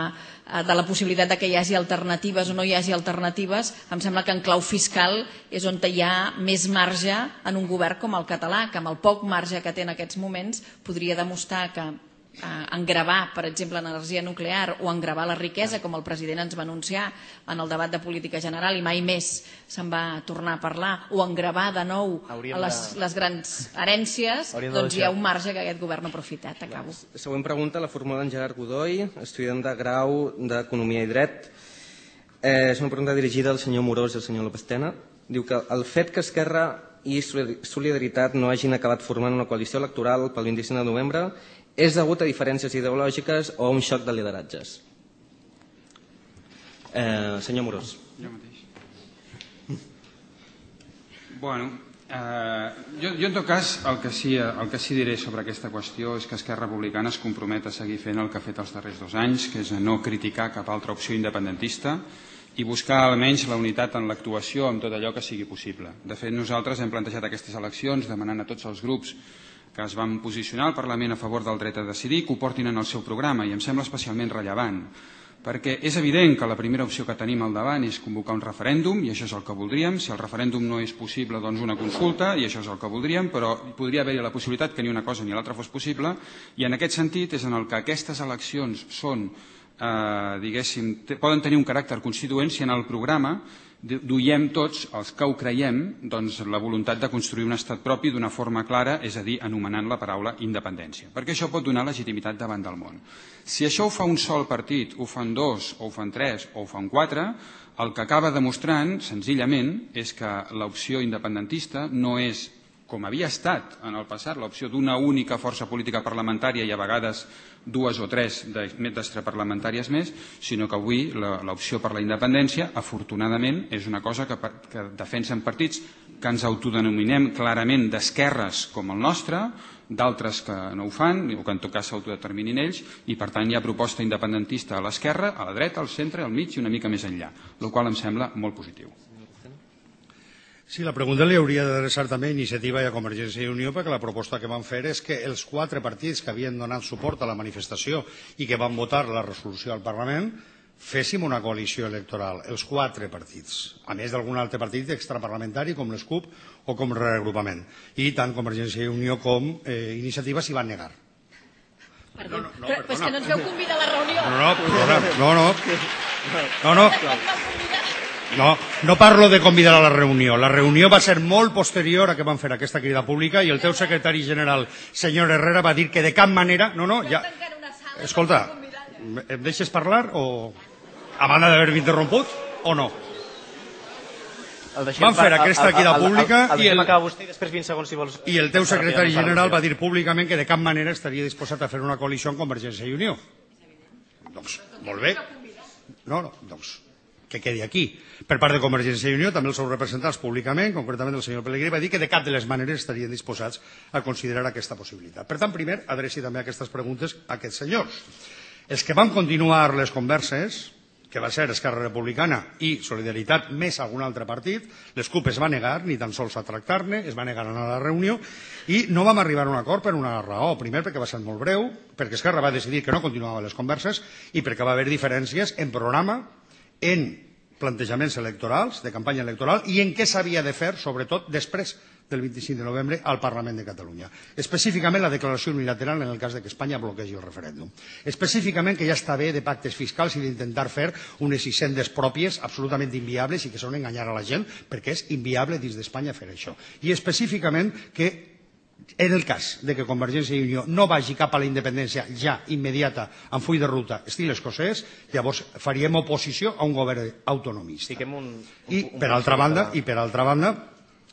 de la possibilitat de que hi hagi alternatives o no hi hagi alternatives, em sembla que en clau fiscal és on hi ha més marge en un govern com el català, que amb el poc marge que té en aquests moments podria demostrar que en gravar, per exemple, l'energia nuclear o en gravar la riquesa, com el president ens va anunciar en el debat de política general i mai més se'n va tornar a parlar, o en gravar de nou les, les grans herències, doncs hi ha un marge que aquest govern no ha aprofitat. Acabo. La següent pregunta la formula en Gerard Godoy, estudiant de grau d'Economia i Dret. Eh, és una pregunta dirigida al senyor Morós i al senyor López Tena. Diu que el fet que Esquerra i Solidaritat no hagin acabat formant una coalició electoral pel vint-i-cinc de novembre és degut a diferències ideològiques o a un xoc de lideratges? Eh, senyor Morós. Jo mateix. Bueno, eh, jo, jo en tot cas el que, sí, el que sí diré sobre aquesta qüestió és que Esquerra Republicana es compromet a seguir fent el que ha fet els darrers dos anys, que és a no criticar cap altra opció independentista i buscar almenys la unitat en l'actuació amb tot allò que sigui possible. De fet, nosaltres hem plantejat aquestes eleccions demanant a tots els grups que es van posicionar al Parlament a favor del dret a decidir, que ho portin en el seu programa, i em sembla especialment rellevant, perquè és evident que la primera opció que tenim al davant és convocar un referèndum, i això és el que voldríem. Si el referèndum no és possible, doncs una consulta, i això és el que voldríem, però podria haver-hi la possibilitat que ni una cosa ni l'altra fos possible, i en aquest sentit és en el que aquestes eleccions són, eh, diguéssim, poden tenir un caràcter constituent si en el programa duiem tots, els que ho creiem, doncs, la voluntat de construir un estat propi d'una forma clara, és a dir, anomenant la paraula independència, perquè això pot donar legitimitat davant del món. Si això ho fa un sol partit, ho fan dos, o ho fan tres, o ho fan quatre, el que acaba demostrant, senzillament, és que l'opció independentista no és, com havia estat en el passat, l'opció d'una única força política parlamentària i a vegades dues o tres d'extraparlamentàries més, sinó que avui l'opció per la independència, afortunadament, és una cosa que, que defensen partits que ens autodenominem clarament d'esquerres com el nostre, d'altres que no ho fan, o que en tot cas s'autodeterminin ells, i per tant hi ha proposta independentista a l'esquerra, a la dreta, al centre, al mig i una mica més enllà, el qual em sembla molt positiu. Sí, la pregunta li hauria d'adreçar també a Iniciativa i a Convergència i Unió, perquè la proposta que van fer és que els quatre partits que havien donat suport a la manifestació i que van votar la resolució al Parlament féssim una coalició electoral, els quatre partits, a més d'algun altre partit extraparlamentari com l'S C U P o com el reagrupament. I tant Convergència i Unió com eh, Iniciativa s'hi van negar. Perdó, no, no, però, però és que no ens veu convidar a la reunió. No, no, perdona, no, no. No, no. No, no parlo de convidar a la reunió. La reunió va ser molt posterior a que van fer aquesta crida pública i el teu secretari general, senyor Herrera, va dir que de cap manera... No, no, ja... Escolta, em deixes parlar o... a banda d'haver-me interromput o no? Van fer aquesta crida pública i el, i el teu secretari general va dir públicament que de cap manera estaria disposat a fer una coalició amb Convergència i Unió. Doncs, molt bé. No, no, doncs, que quedi aquí. Per part de Convergència i Unió, també els seus representants públicament, concretament el senyor Pellegrí, va dir que de cap de les maneres estarien disposats a considerar aquesta possibilitat. Per tant, primer, adreci també aquestes preguntes a aquests senyors. Els que van continuar les converses, que va ser Esquerra Republicana i Solidaritat més algun altre partit, les C U P es va negar ni tan sols a tractar-ne, es va negar a anar a la reunió i no vam arribar a un acord per una raó. Primer, perquè va ser molt breu, perquè Esquerra va decidir que no continuava les converses i perquè va haver diferències en programa, en plantejaments electorals, de campanya electoral, i en què s'havia de fer, sobretot després del vint-i-cinc de novembre al Parlament de Catalunya. Específicament la declaració unilateral en el cas de que Espanya bloquegi el referèndum. Específicament que ja està bé de pactes fiscals i d'intentar fer unes hisendes pròpies absolutament inviables i que són enganyar a la gent perquè és inviable dins d'Espanya fer això. I específicament que en el cas de que Convergència i Unió no vagi cap a la independència ja immediata amb full de ruta estil escocès, llavors faríem oposició a un govern autonomista. I per altra banda, i per altra banda,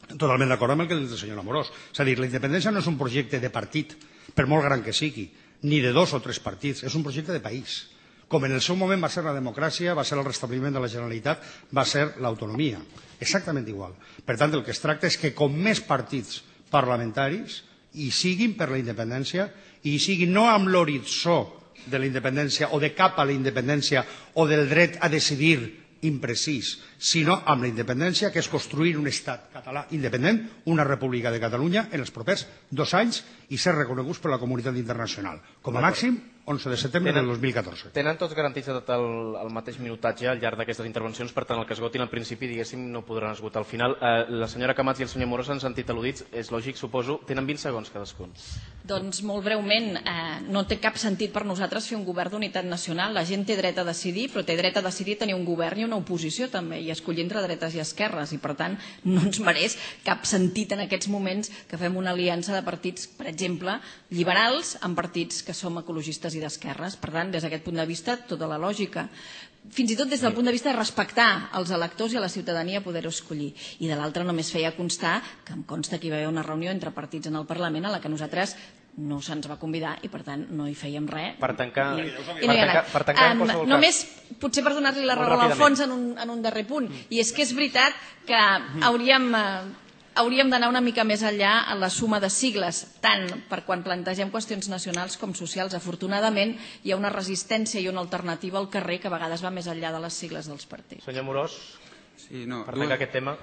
totalment d'acord amb el que diu el senyor Amorós. És a dir, la independència no és un projecte de partit, per molt gran que sigui, ni de dos o tres partits, és un projecte de país. Com en el seu moment va ser la democràcia, va ser el restabliment de la Generalitat, va ser l'autonomia. Exactament igual. Per tant, el que es tracta és que com més partits parlamentaris hi siguin per la independència i hi siguin no amb l'horitzó de la independència o de cap a la independència o del dret a decidir imprecís, sinó amb la independència, que és construir un estat català independent, una república de Catalunya, en els propers dos anys i ser reconeguts per la comunitat internacional. Com a màxim, onze de setembre del dos mil catorze. Tenen tots garantits tot el, el mateix minutatge al llarg d'aquestes intervencions, per tant, el que esgotin al principi, diguéssim, no podran esgotar al final. Eh, la senyora Camats i el senyor Morós s'han sentit al·ludits, és lògic, suposo. Tenen vint segons cadascun. Doncs molt breument, eh, no té cap sentit per nosaltres fer un govern d'unitat nacional. La gent té dret a decidir, però té dret a decidir tenir un govern i una oposició també, i escollir entre dretes i esquerres, i per tant no ens mereix cap sentit en aquests moments que fem una aliança de partits, per exemple, liberals amb partits que som ecologistes i d'esquerres. Per tant, des d'aquest punt de vista, tota la lògica. Fins i tot des del punt de vista de respectar els electors i a la ciutadania poder-ho escollir. I de l'altra només feia constar que em consta que hi va haver una reunió entre partits en el Parlament a la que nosaltres no se'ns va convidar i per tant no hi fèiem res. Per tancar, I, per i no tancar, per tancar en qualsevol cas. Només, potser per donar-li la raó a l'Alfons en, un, en un darrer punt, i és que és veritat que hauríem... Eh, hauríem d'anar una mica més enllà en la suma de sigles, tant per quan plantegem qüestions nacionals com socials. Afortunadament, hi ha una resistència i una alternativa al carrer que a vegades va més enllà de les sigles dels partits. Senyor Morós, sí, no, per tancar aquest tema.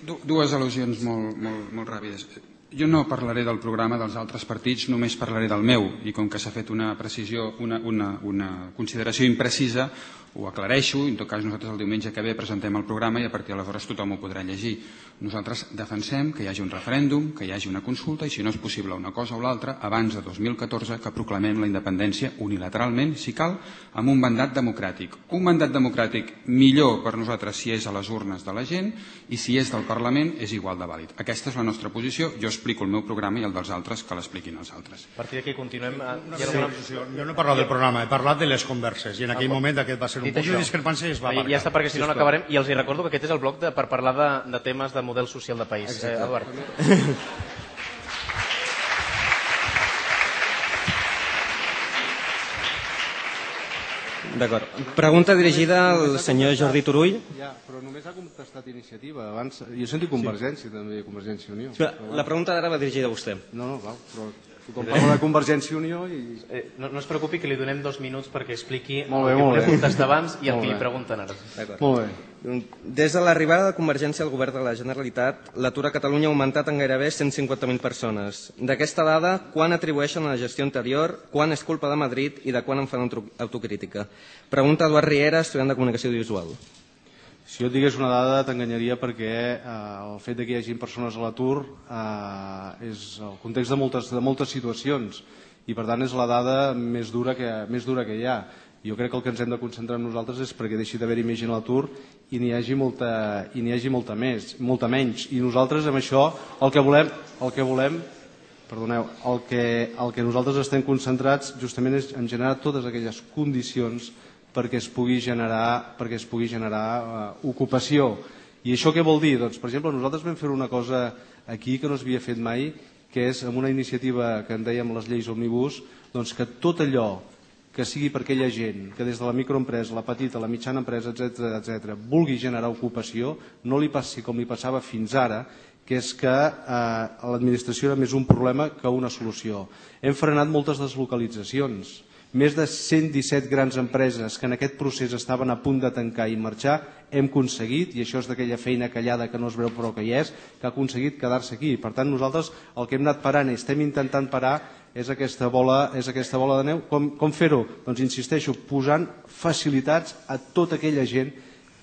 Dues al·lusions molt, molt, molt ràpides. Jo no parlaré del programa dels altres partits, només parlaré del meu, i com que s'ha fet una precisió, una, una, una consideració imprecisa, ho aclareixo, i en tot cas nosaltres el diumenge que ve presentem el programa i a partir d'aleshores tothom ho podrà llegir. Nosaltres defensem que hi hagi un referèndum, que hi hagi una consulta i si no és possible una cosa o l'altra, abans de dos mil catorze que proclamem la independència unilateralment, si cal, amb un mandat democràtic. Un mandat democràtic millor per nosaltres si és a les urnes de la gent i si és del Parlament és igual de vàlid. Aquesta és la nostra posició, jo explico el meu programa i el dels altres que l'expliquin els altres. A partir d'aquí continuem... Sí, jo no he parlat del programa, he parlat de les converses i en aquell moment aquest va ser un punt de discrepància i es va marcar. Ja està, perquè si no no acabarem. I els hi recordo que aquest és el bloc de, per parlar de, de temes de model social de país. Eh, Eduard. D'acord. Pregunta dirigida al senyor Jordi Turull. Ja, però només ha contestat Iniciativa. Abans, jo sento Convergència, sí. També, Convergència i Unió. Però, la pregunta d'ara va dirigida a vostè. No, no, val, però Tothom parla de Convergència i Unió i... No es preocupi que li donem dos minuts perquè expliqui el Molt bé, que molt volia bé. contestar abans i el Molt que li bé. pregunten ara. Molt bé. Des de l'arribada de Convergència al govern de la Generalitat, l'atur a Catalunya ha augmentat en gairebé cent cinquanta mil persones. D'aquesta dada, quan atribueixen a la gestió anterior, quan és culpa de Madrid i de quan en fan autocrítica? Pregunta Eduard Riera, estudiant de Comunicació Audiovisual. Si jo et digués una dada t'enganyaria perquè eh, el fet que hi hagi persones a l'atur eh, és el context de moltes, de moltes situacions i per tant és la dada més dura, que, més dura que hi ha. Jo crec que el que ens hem de concentrar en nosaltres és perquè deixi d'haver-hi més gent a l'atur i n'hi hagi, molta, i n'hi hagi molta, més, molta menys. I nosaltres amb això el que volem, el que volem perdoneu, el que, el que nosaltres estem concentrats justament és en generar totes aquelles condicions perquè es pugui generar, perquè es pugui generar uh, ocupació. I això què vol dir? Doncs, per exemple, nosaltres vam fer una cosa aquí que no s'havia fet mai, que és amb una iniciativa que en dèiem les lleis òmnibus, doncs que tot allò que sigui per aquella gent que des de la microempresa, la petita, la mitjana empresa, etcètera, etcètera, vulgui generar ocupació, no li passi com li passava fins ara, que és que eh, l'administració era més un problema que una solució. Hem frenat moltes deslocalitzacions. Més de cent disset grans empreses que en aquest procés estaven a punt de tancar i marxar, hem aconseguit, i això és d'aquella feina callada que no es veu però que hi és, que ha aconseguit quedar-se aquí. Per tant, nosaltres el que hem anat parant i estem intentant parar és aquesta bola, és aquesta bola de neu. Com, com fer-ho? Doncs insisteixo, posant facilitats a tota aquella gent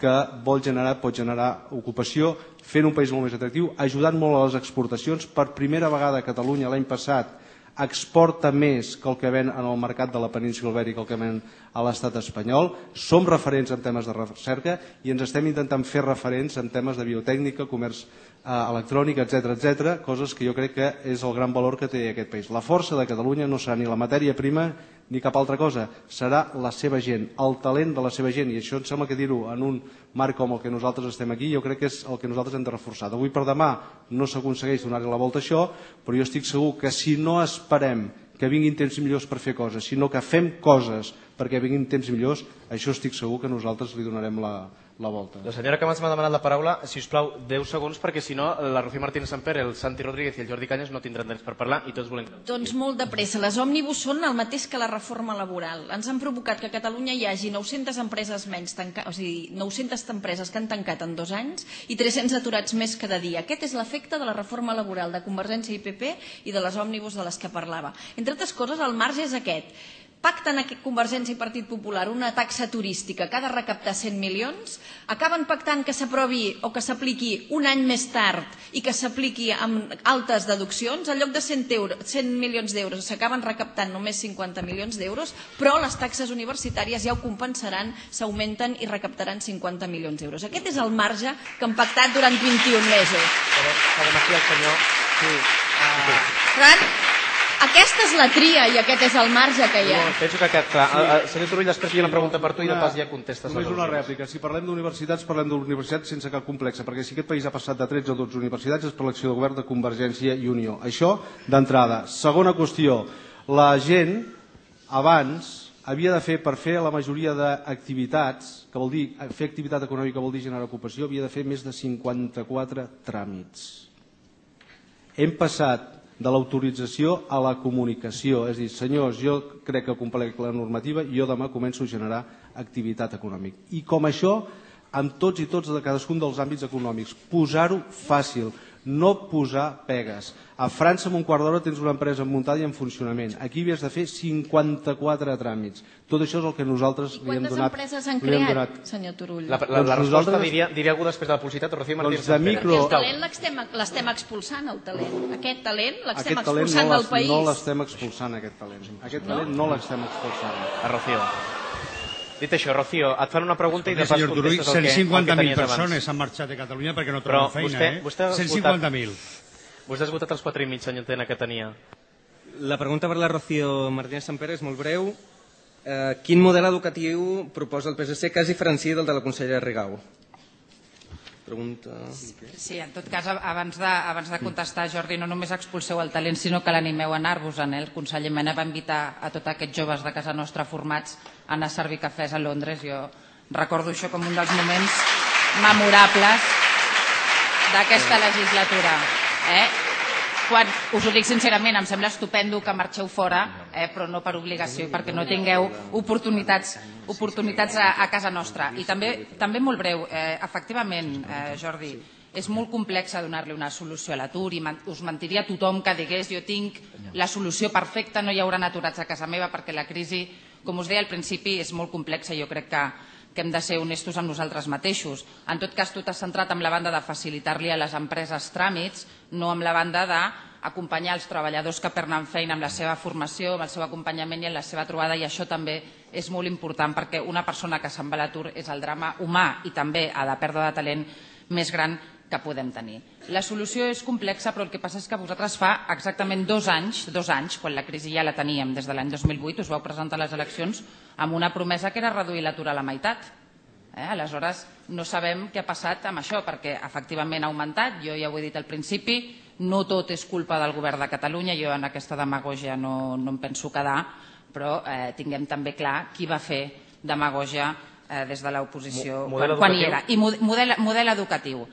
que vol generar, pot generar ocupació, fent un país molt més atractiu, ajudant molt a les exportacions. Per primera vegada a Catalunya l'any passat exporta més que el que ven en el mercat de la península Ibèrica, el que ven a l'estat espanyol. Som referents en temes de recerca i ens estem intentant fer referents en temes de biotècnica, comerç eh, electrònic, etcètera, etcètera, coses que jo crec que és el gran valor que té aquest país. La força de Catalunya no serà ni la matèria prima ni cap altra cosa, serà la seva gent, el talent de la seva gent, i això em sembla que dir-ho en un marc com el que nosaltres estem aquí, jo crec que és el que nosaltres hem de reforçar. D'avui per demà no s'aconsegueix donar-li la volta a això, però jo estic segur que si no esperem que vinguin temps millors per fer coses, sinó que fem coses perquè vinguin temps millors, això estic segur que nosaltres li donarem la, la volta. La senyora Camats m'ha demanat la paraula, si us plau, deu segons, perquè si no, la Rocío Martínez Samper, el Santi Rodríguez i el Jordi Cañas no tindran temps per parlar i tots volem... Doncs molt de pressa. Les òmnibus són el mateix que la reforma laboral. Ens han provocat que a Catalunya hi hagi nou-centes empreses menys tancades, o sigui, nou-centes empreses que han tancat en dos anys i tres-cents aturats més cada dia. Aquest és l'efecte de la reforma laboral de Convergència i P P i de les òmnibus de les que parlava. Entre altres coses, el marge és aquest. Pacten Convergència i Partit Popular una taxa turística que ha de recaptar cent milions, acaben pactant que s'aprovi o que s'apliqui un any més tard i que s'apliqui amb altes deduccions, en lloc de cent milions d'euros s'acaben recaptant només cinquanta milions d'euros, però les taxes universitàries ja ho compensaran, s'augmenten i recaptaran cinquanta milions d'euros. Aquest és el marge que han pactat durant vint-i-un mesos. Però, sabem aquí el senyor... Sí. Per tant, aquesta és la tria i aquest és el marge que hi ha. No, penso que aquest, clar. El senyor Turull, després hi ha una pregunta per tu i de pas ja contestes. Només una rèplica. Si parlem d'universitats, parlem d'universitats sense cap complexa, perquè si aquest país ha passat de tretze a dotze universitats és per l'acció de govern de Convergència i Unió. Això, d'entrada. Segona qüestió, la gent, abans, havia de fer, per fer la majoria d'activitats, que vol dir, fer activitat econòmica vol dir generar ocupació, havia de fer més de cinquanta-quatre tràmits. Hem passat de l'autorització a la comunicació. És a dir, senyors, jo crec que complec la normativa i jo demà començo a generar activitat econòmica. I com això, amb tots i tots de cadascun dels àmbits econòmics. Posar-ho fàcil, no posar pegues. A França, en un quart d'hora, tens una empresa muntada i en funcionament. Aquí havies de fer cinquanta-quatre tràmits. Tot això és el que nosaltres li hem donat. Quantes empreses han creat, senyor Turull? La, la, la resposta diria, diria algú després de la publicitat, Rocío Martínez. Doncs de micro... El talent l'estem expulsant, el talent. Aquest talent l'estem Aquest talent expulsant no del país. No l'estem expulsant, aquest talent. Aquest talent no l'estem expulsant. A Rocío. Dit això, Rocío, et fan una pregunta i de pas senyor Turull, contestes el que, cent cinquanta mil el que tenies abans. persones han marxat de Catalunya perquè no Però troben feina, vostè, eh? vostè ha cent cinquanta mil. Vostè ha esgotat els quatre i mig, senyor Tena, que tenia. La pregunta per la Rocío Martínez Samper és molt breu. Eh, quin model educatiu proposa el P S C que es diferenciï del de la consellera Rigau? Pregunta... Sí, en tot cas, abans de, abans de contestar, Jordi, no només expulseu el talent, sinó que l'animeu a anar-vos-en. El conseller Mena va invitar a tots aquests joves de casa nostra formats a anar a servir cafès a Londres. Jo recordo això com un dels moments memorables d'aquesta legislatura. Eh? quan us ho dic sincerament, em sembla estupendo que marxeu fora, però no per obligació, perquè no tingueu oportunitats a casa nostra. I també molt breu, efectivament, Jordi, és molt complex donar-li una solució a l'atur i us mentiria tothom que digués jo tinc la solució perfecta, no hi haurà aturats a casa meva, perquè la crisi, com us deia al principi, és molt complexa i jo crec que que hem de ser honestos amb nosaltres mateixos. En tot cas, tu t'has centrat en la banda de facilitar-li a les empreses tràmits, no amb la banda d'acompanyar els treballadors que perden feina amb la seva formació, amb el seu acompanyament i en la seva trobada, i això també és molt important perquè una persona que se'n va a l'atur és el drama humà i també a la pèrdua de talent més gran que podem tenir. La solució és complexa, però el que passa és que vosaltres fa exactament dos anys, dos anys, quan la crisi ja la teníem des de l'any dos mil vuit, us vau presentar a les eleccions amb una promesa que era reduir l'atur a la meitat. Aleshores, no sabem què ha passat amb això, perquè efectivament ha augmentat, jo ja ho he dit al principi, no tot és culpa del govern de Catalunya, jo en aquesta demagògia no em penso quedar, però tinguem també clar qui va fer demagògia des de l'oposició quan hi era. I model educatiu.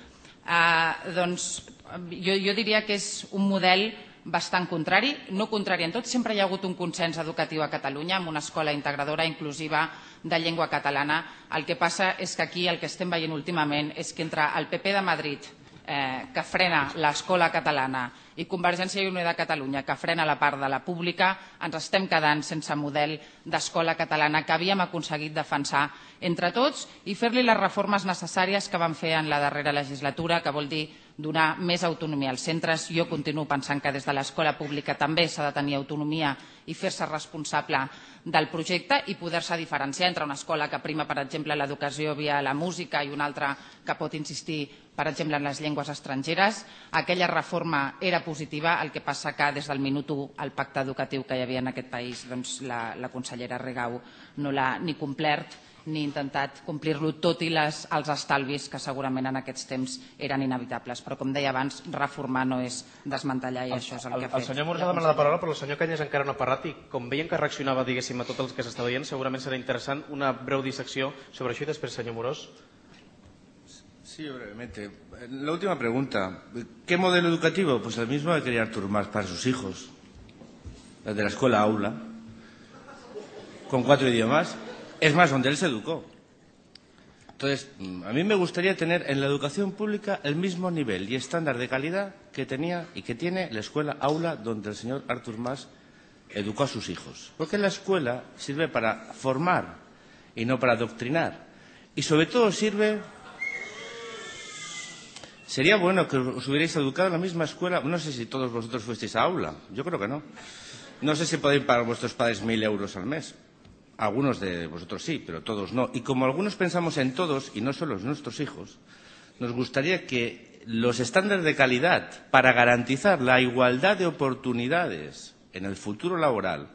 Doncs jo diria que és un model bastant contrari, no contrari en tot, sempre hi ha hagut un consens educatiu a Catalunya amb una escola integradora inclusiva de llengua catalana. El que passa és que aquí el que estem veient últimament és que entre el P P de Madrid, que frena l'escola catalana, i Convergència i Unió de Catalunya, que frena la part de la pública, ens estem quedant sense model d'escola catalana que havíem aconseguit defensar entre tots i fer-li les reformes necessàries que vam fer en la darrera legislatura, que vol dir donar més autonomia als centres. Jo continuo pensant que des de l'escola pública també s'ha de tenir autonomia i fer-se responsable del projecte i poder-se diferenciar entre una escola que prima, per exemple, l'educació via la música i una altra que pot insistir, per exemple, en les llengües estrangeres. Aquella reforma era positiva, el que passa que des del minut u el pacte educatiu que hi havia en aquest país, la consellera Rigau no l'ha ni complert ni intentat complir-lo, tot i els estalvis que segurament en aquests temps eren inevitables. Però, com deia abans, reformar no és desmantellar i això és el que ha fet. El senyor Amorós ha demanat la paraula, però el senyor Cañas encara no ha parlat i com veiem que reaccionava, diguéssim, a tot el que s'està veient, segurament serà interessant una breu dissecció sobre això i després, senyor Amorós. Sí, brevemente. La última pregunta. ¿Qué modelo educativo? Pues el mismo que quería Artur Mas para sus hijos. El de la escuela aula. Con cuatro idiomas. Es más, donde él se educó. Entonces, a mí me gustaría tener en la educación pública el mismo nivel y estándar de calidad que tenía y que tiene la escuela aula donde el señor Artur Mas educó a sus hijos. Porque la escuela sirve para formar y no para adoctrinar. Y sobre todo sirve... Sería bueno que os hubierais educado en la misma escuela. No sé si todos vosotros fuisteis a aula. Yo creo que no. No sé si podéis pagar vuestros padres mil euros al mes. Algunos de vosotros sí, pero todos no. Y como algunos pensamos en todos, y no solo en nuestros hijos, nos gustaría que los estándares de calidad para garantizar la igualdad de oportunidades en el futuro laboral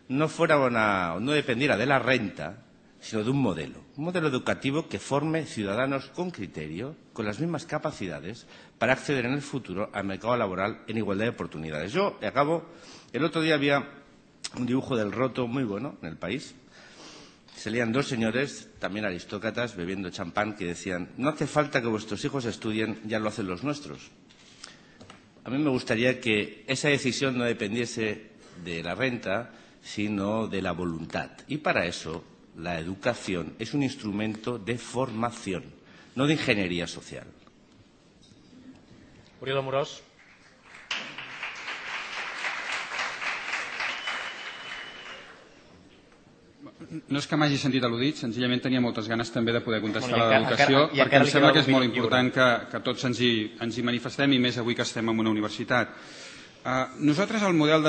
no fuera una, no dependiera de la renta, sino de un modelo. Un modelo educativo que forme ciudadanos con criterio, con las mismas capacidades, para acceder en el futuro al mercado laboral en igualdad de oportunidades. Yo acabo, el otro día había un dibujo del roto muy bueno en El País. Salían dos señores, también aristócratas, bebiendo champán, que decían, no hace falta que vuestros hijos estudien, ya lo hacen los nuestros. A mí me gustaría que esa decisión no dependiese de la renta, sino de la voluntad. Y para eso, la educación es un instrumento de formación, no de ingeniería social. Oriol Amorós. No és que m'hagi sentit al·ludit, senzillament tenia moltes ganes també de poder contestar a l'educació, perquè em sembla que és molt important que tots ens hi manifestem, i més avui que estem en una universitat. Nosaltres el model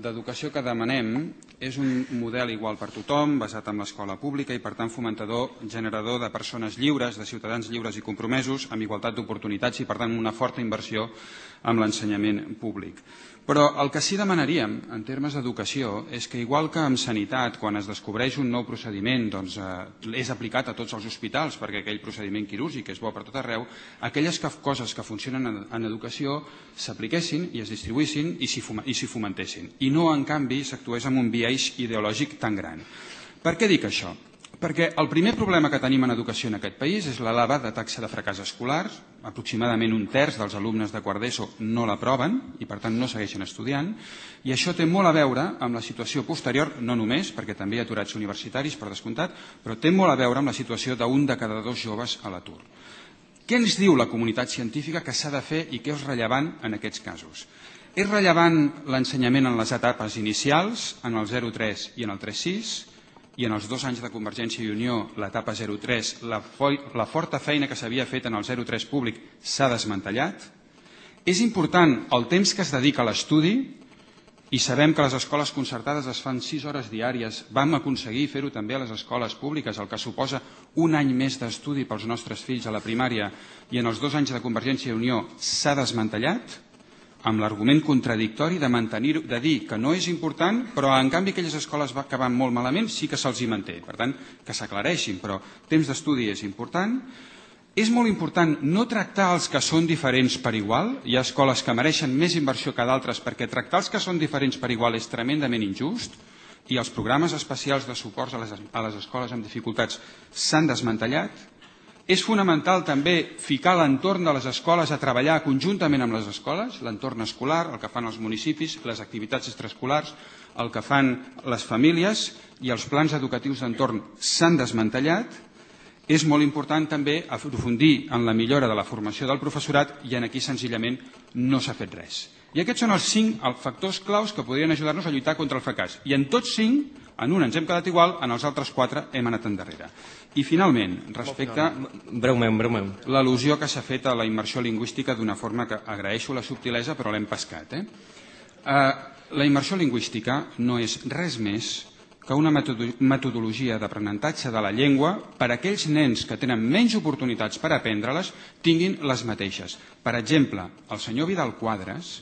d'educació que demanem és un model igual per tothom, basat en l'escola pública i per tant fomentador, generador de persones lliures, de ciutadans lliures i compromesos, amb igualtat d'oportunitats i per tant una forta inversió amb l'ensenyament públic. Però el que sí demanaríem en termes d'educació és que, igual que en sanitat, quan es descobreix un nou procediment, doncs és aplicat a tots els hospitals, perquè aquell procediment quirúrgic és bo per tot arreu, aquelles coses que funcionen en educació s'apliquessin i es distribuïssin i s'hi fomentessin. I no, en canvi, s'actués amb un biaix ideològic tan gran. Per què dic això? Perquè el primer problema que tenim en educació en aquest país és l'elevada taxa de fracàs escolar. Aproximadament un terç dels alumnes de quart d'ESO no l'aproven i per tant no segueixen estudiant, i això té molt a veure amb la situació posterior, no només, perquè també hi ha aturats universitaris per descomptat, però té molt a veure amb la situació d'un de cada dos joves a l'atur. Què ens diu la comunitat científica que s'ha de fer i què és rellevant en aquests casos? És rellevant l'ensenyament en les etapes inicials, en el zero tres i en el tres sis, i en els dos anys de Convergència i Unió, l'etapa zero tres, la, la forta feina que s'havia fet en el zero tres públic s'ha desmantellat. És important el temps que es dedica a l'estudi, i sabem que les escoles concertades es fan sis hores diàries. Vam aconseguir fer-ho també a les escoles públiques, el que suposa un any més d'estudi pels nostres fills a la primària, i en els dos anys de Convergència i Unió s'ha desmantellat, amb l'argument contradictori de mantenir, de dir que no és important, però en canvi aquelles escoles que van molt malament sí que se'ls hi manté. Per tant, que s'aclareixin, però temps d'estudi és important. És molt important no tractar els que són diferents per igual. Hi ha escoles que mereixen més inversió que d'altres perquè tractar els que són diferents per igual és tremendament injust, i els programes especials de suport a les, a les escoles amb dificultats s'han desmantellat. És fonamental també ficar l'entorn de les escoles a treballar conjuntament amb les escoles, l'entorn escolar, el que fan els municipis, les activitats extraescolars, el que fan les famílies, i els plans educatius d'entorn s'han desmantellat. És molt important també aprofundir en la millora de la formació del professorat, i en aquí senzillament no s'ha fet res. I aquests són els cinc factors claus que podrien ajudar-nos a lluitar contra el fracàs. I en tots cinc, en un ens hem quedat igual, en els altres quatre hem anat endarrere. I finalment, respecte a l'al·lusió que s'ha fet a la immersió lingüística, d'una forma que agraeixo la subtilesa però l'hem pescat. Eh? La immersió lingüística no és res més que una metodologia d'aprenentatge de la llengua per a aquells nens que tenen menys oportunitats per aprendre-les tinguin les mateixes. Per exemple, el senyor Vidal Quadras,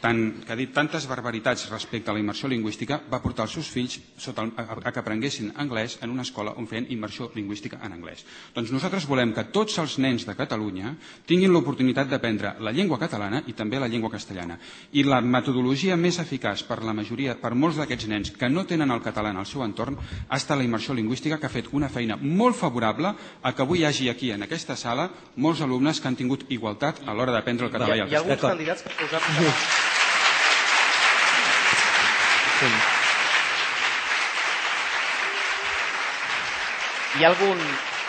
tant, que ha dit tantes barbaritats respecte a la immersió lingüística, va portar els seus fills sota el, a, a que aprenguessin anglès en una escola on feien immersió lingüística en anglès. Doncs nosaltres volem que tots els nens de Catalunya tinguin l'oportunitat d'aprendre la llengua catalana i també la llengua castellana. I la metodologia més eficaç per la majoria, per molts d'aquests nens que no tenen el català en el seu entorn, ha estat la immersió lingüística, que ha fet una feina molt favorable a que avui hi hagi aquí, en aquesta sala, molts alumnes que han tingut igualtat a l'hora d'aprendre el català i el castellà. Hi ha alguns candidats que posar... Hi ha, algun,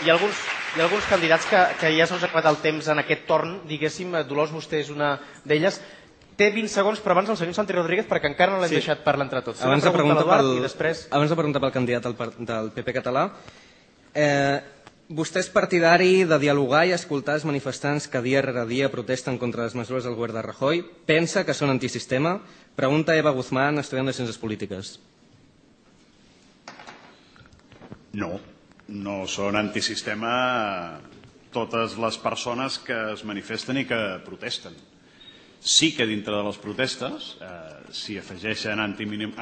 hi, ha alguns, hi ha alguns candidats que, que ja se'ls ha acabat el temps en aquest torn, diguéssim. Dolors, vostè és una d'elles. Té vint segons, però abans el senyor Santi Rodríguez, perquè encara no l'hem sí. deixat parlar entre tots. Abans de, pregunta pel, i després... abans de preguntar pel candidat del, del P P català, eh, vostè és partidari de dialogar i escoltar els manifestants que dia rere dia protesten contra les mesures del govern de Rajoy? Pensa que són antisistema? Pregunta Eva Guzmán, estudiant de Ciències Polítiques. No, no són antisistema totes les persones que es manifesten i que protesten. Sí que dintre de les protestes eh, s'hi afegeixen anti, eh,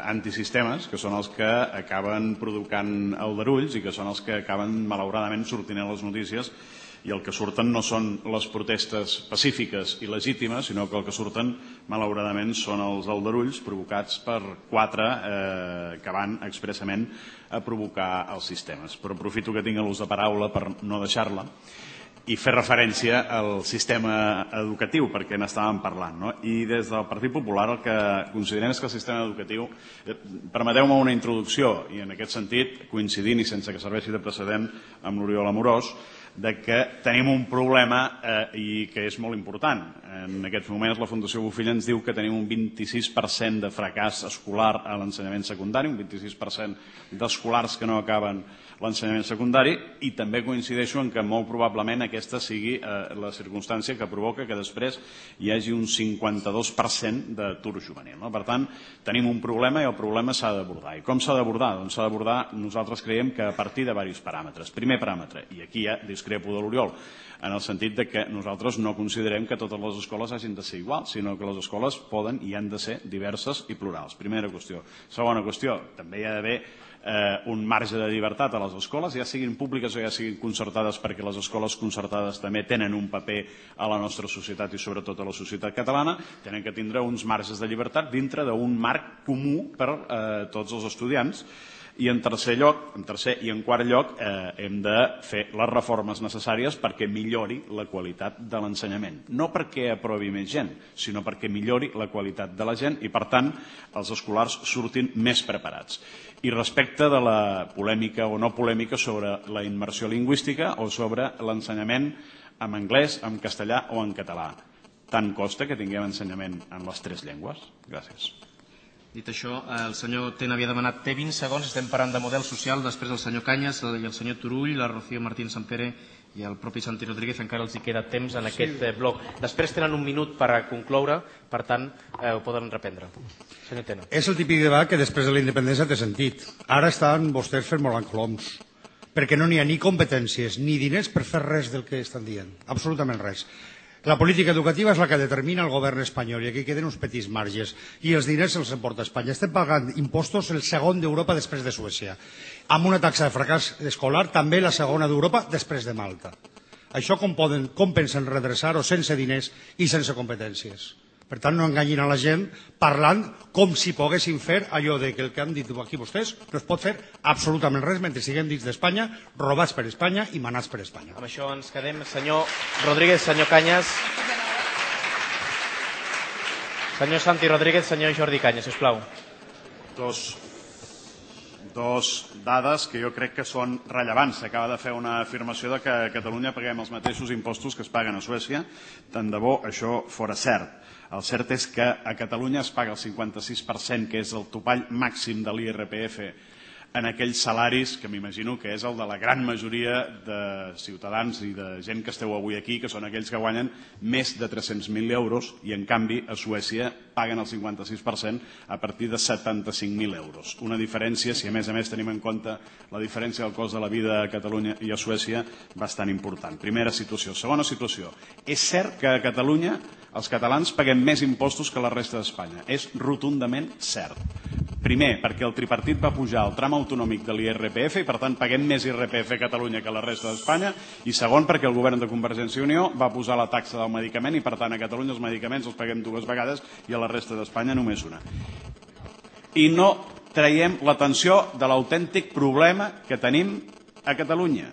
antisistemes, que són els que acaben provocant aldarulls i que són els que acaben, malauradament, sortint a les notícies, i el que surten no són les protestes pacífiques i legítimes, sinó que el que surten, malauradament, són els aldarulls provocats per quatre eh, que van expressament a provocar els sistemes. Però aprofito que tinc l'ús de paraula per no deixar-la i fer referència al sistema educatiu, perquè n'estàvem parlant. No? I des del Partit Popular el que considerem és que el sistema educatiu... Permeteu-me una introducció, i en aquest sentit, coincidint i sense que serveixi de precedent amb l'Oriol Amorós, de que tenim un problema eh, i que és molt important. En aquests moments la Fundació Bofill ens diu que tenim un vint-i-sis per cent de fracàs escolar a l'ensenyament secundari, un vint-i-sis per cent d'escolars que no acaben l'ensenyament secundari, i també coincideixo en que molt probablement aquesta sigui eh, la circumstància que provoca que després hi hagi un cinquanta-dos per cent d'atur juvenil. No? Per tant, tenim un problema i el problema s'ha d'abordar. I com s'ha d'abordar? Doncs s'ha d'abordar, nosaltres creiem que a partir de diversos paràmetres. Primer paràmetre, i aquí ja discrepo de l'Oriol, en el sentit de que nosaltres no considerem que totes les escoles hagin de ser iguals, sinó que les escoles poden i han de ser diverses i plurals. Primera qüestió. Segona qüestió, també hi ha d'haver eh, un marge de llibertat a les escoles, ja siguin públiques o ja siguin concertades, perquè les escoles concertades també tenen un paper a la nostra societat i sobretot a la societat catalana, tenen que tindre uns marges de llibertat dintre d'un marc comú per eh, tots els estudiants. I en tercer lloc, en tercer i en quart lloc, eh, hem de fer les reformes necessàries perquè millori la qualitat de l'ensenyament. No perquè aprovi més gent, sinó perquè millori la qualitat de la gent i, per tant, els escolars surtin més preparats. I respecte de la polèmica o no polèmica sobre la immersió lingüística o sobre l'ensenyament en anglès, en castellà o en català. Tant costa que tinguem ensenyament en les tres llengües? Gràcies. Dit això, el senyor Ten havia demanat té vint segons, estem parlant de model social, després el senyor Cañas i el senyor Turull, la Rocío Martín Sampere i el propi Santi Rodríguez, encara els hi queda temps en aquest bloc. Després tenen un minut per a concloure, per tant, ho poden reprendre. Senyor Tena. És el típic debat que després de la independència té sentit. Ara estan vostès fent molant coloms, perquè no n'hi ha ni competències ni diners per fer res del que estan dient, absolutament res. La política educativa és la que determina el govern espanyol i aquí queden uns petits marges i els diners se'ls emporta Espanya. Estem pagant impostos el segon d'Europa després de Suècia, amb una taxa de fracàs escolar també la segona d'Europa després de Malta. Això com, poden, com pensen redreçar-ho sense diners i sense competències? Per tant, no enganyin a la gent parlant com si poguessin fer allò de que el que han dit aquí vostès no es pot fer absolutament res mentre siguem dins d'Espanya, robats per Espanya i manats per Espanya. Amb això ens quedem. Senyor Rodríguez, senyor Cañas. Senyor Santi Rodríguez, senyor Jordi Cañas, sisplau. Dos, dos dades que jo crec que són rellevants. S'acaba de fer una afirmació de que a Catalunya paguem els mateixos impostos que es paguen a Suècia. Tant de bo això fora cert. El cert és que a Catalunya es paga el cinquanta-sis per cent, que és el topall màxim de l'I R P F, en aquells salaris que m'imagino que és el de la gran majoria de ciutadans i de gent que esteu avui aquí, que són aquells que guanyen més de tres-cents mil euros i, en canvi, a Suècia paguen el cinquanta-sis per cent a partir de setanta-cinc mil euros. Una diferència, si a més a més tenim en compte la diferència del cost de la vida a Catalunya i a Suècia, bastant important. Primera situació. Segona situació. És cert que a Catalunya els catalans paguem més impostos que la resta d'Espanya. És rotundament cert. Primer, perquè el tripartit va pujar el tram autonòmic de l'I R P F i, per tant, paguem més I R P F a Catalunya que a la resta d'Espanya. I segon, perquè el govern de Convergència i Unió va posar la taxa del medicament i, per tant, a Catalunya els medicaments els paguem dues vegades i a la resta d'Espanya només una. I no traiem l'atenció de l'autèntic problema que tenim a Catalunya,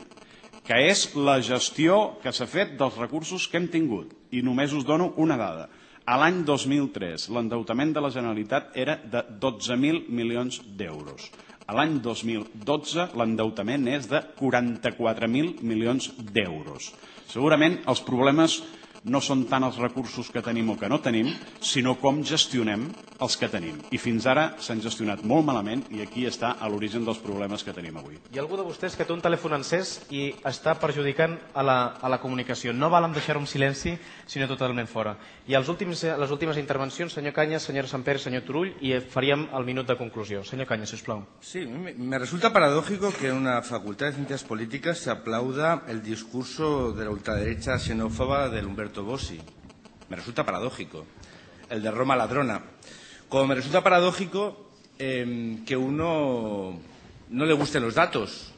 que és la gestió que s'ha fet dels recursos que hem tingut. I només us dono una dada. A l'any dos mil tres, l'endeutament de la Generalitat era de dotze mil milions d'euros. A l'any dos mil dotze, l'endeutament és de quaranta-quatre mil milions d'euros. Segurament els problemes no són tant els recursos que tenim o que no tenim, sinó com gestionem els que tenim. I fins ara s'han gestionat molt malament i aquí està a l'origen dels problemes que tenim avui. Hi ha algú de vostès que té un telèfon encès i està perjudicant a la, a la comunicació. No val en deixar-ho en silenci, sinó totalment fora. I els últims, les últimes intervencions, senyor Cañas, senyora Samper, senyor Turull, i faríem el minut de conclusió. Senyor Cañas, sisplau. Sí, me resulta paradójico que en una facultad de ciencias políticas se aplauda el discurso de la ultraderecha xenófoba del Humberto Bossi. Me resulta paradójico. El de Roma ladrona. Como me resulta paradójico eh, que uno no le gusten los datos.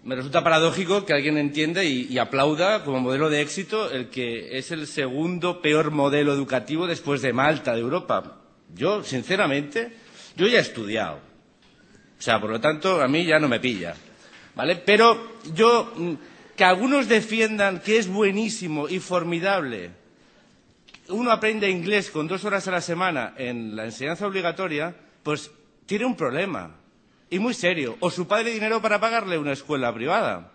Me resulta paradójico que alguien entienda y, y aplauda como modelo de éxito el que es el segundo peor modelo educativo después de Malta, de Europa. Yo, sinceramente, yo ya he estudiado. O sea, por lo tanto, a mí ya no me pilla. ¿Vale? Pero yo... que algunos defiendan que es buenísimo y formidable, uno aprende inglés con dos horas a la semana en la enseñanza obligatoria, pues tiene un problema, y muy serio. O su padre dinero para pagarle una escuela privada.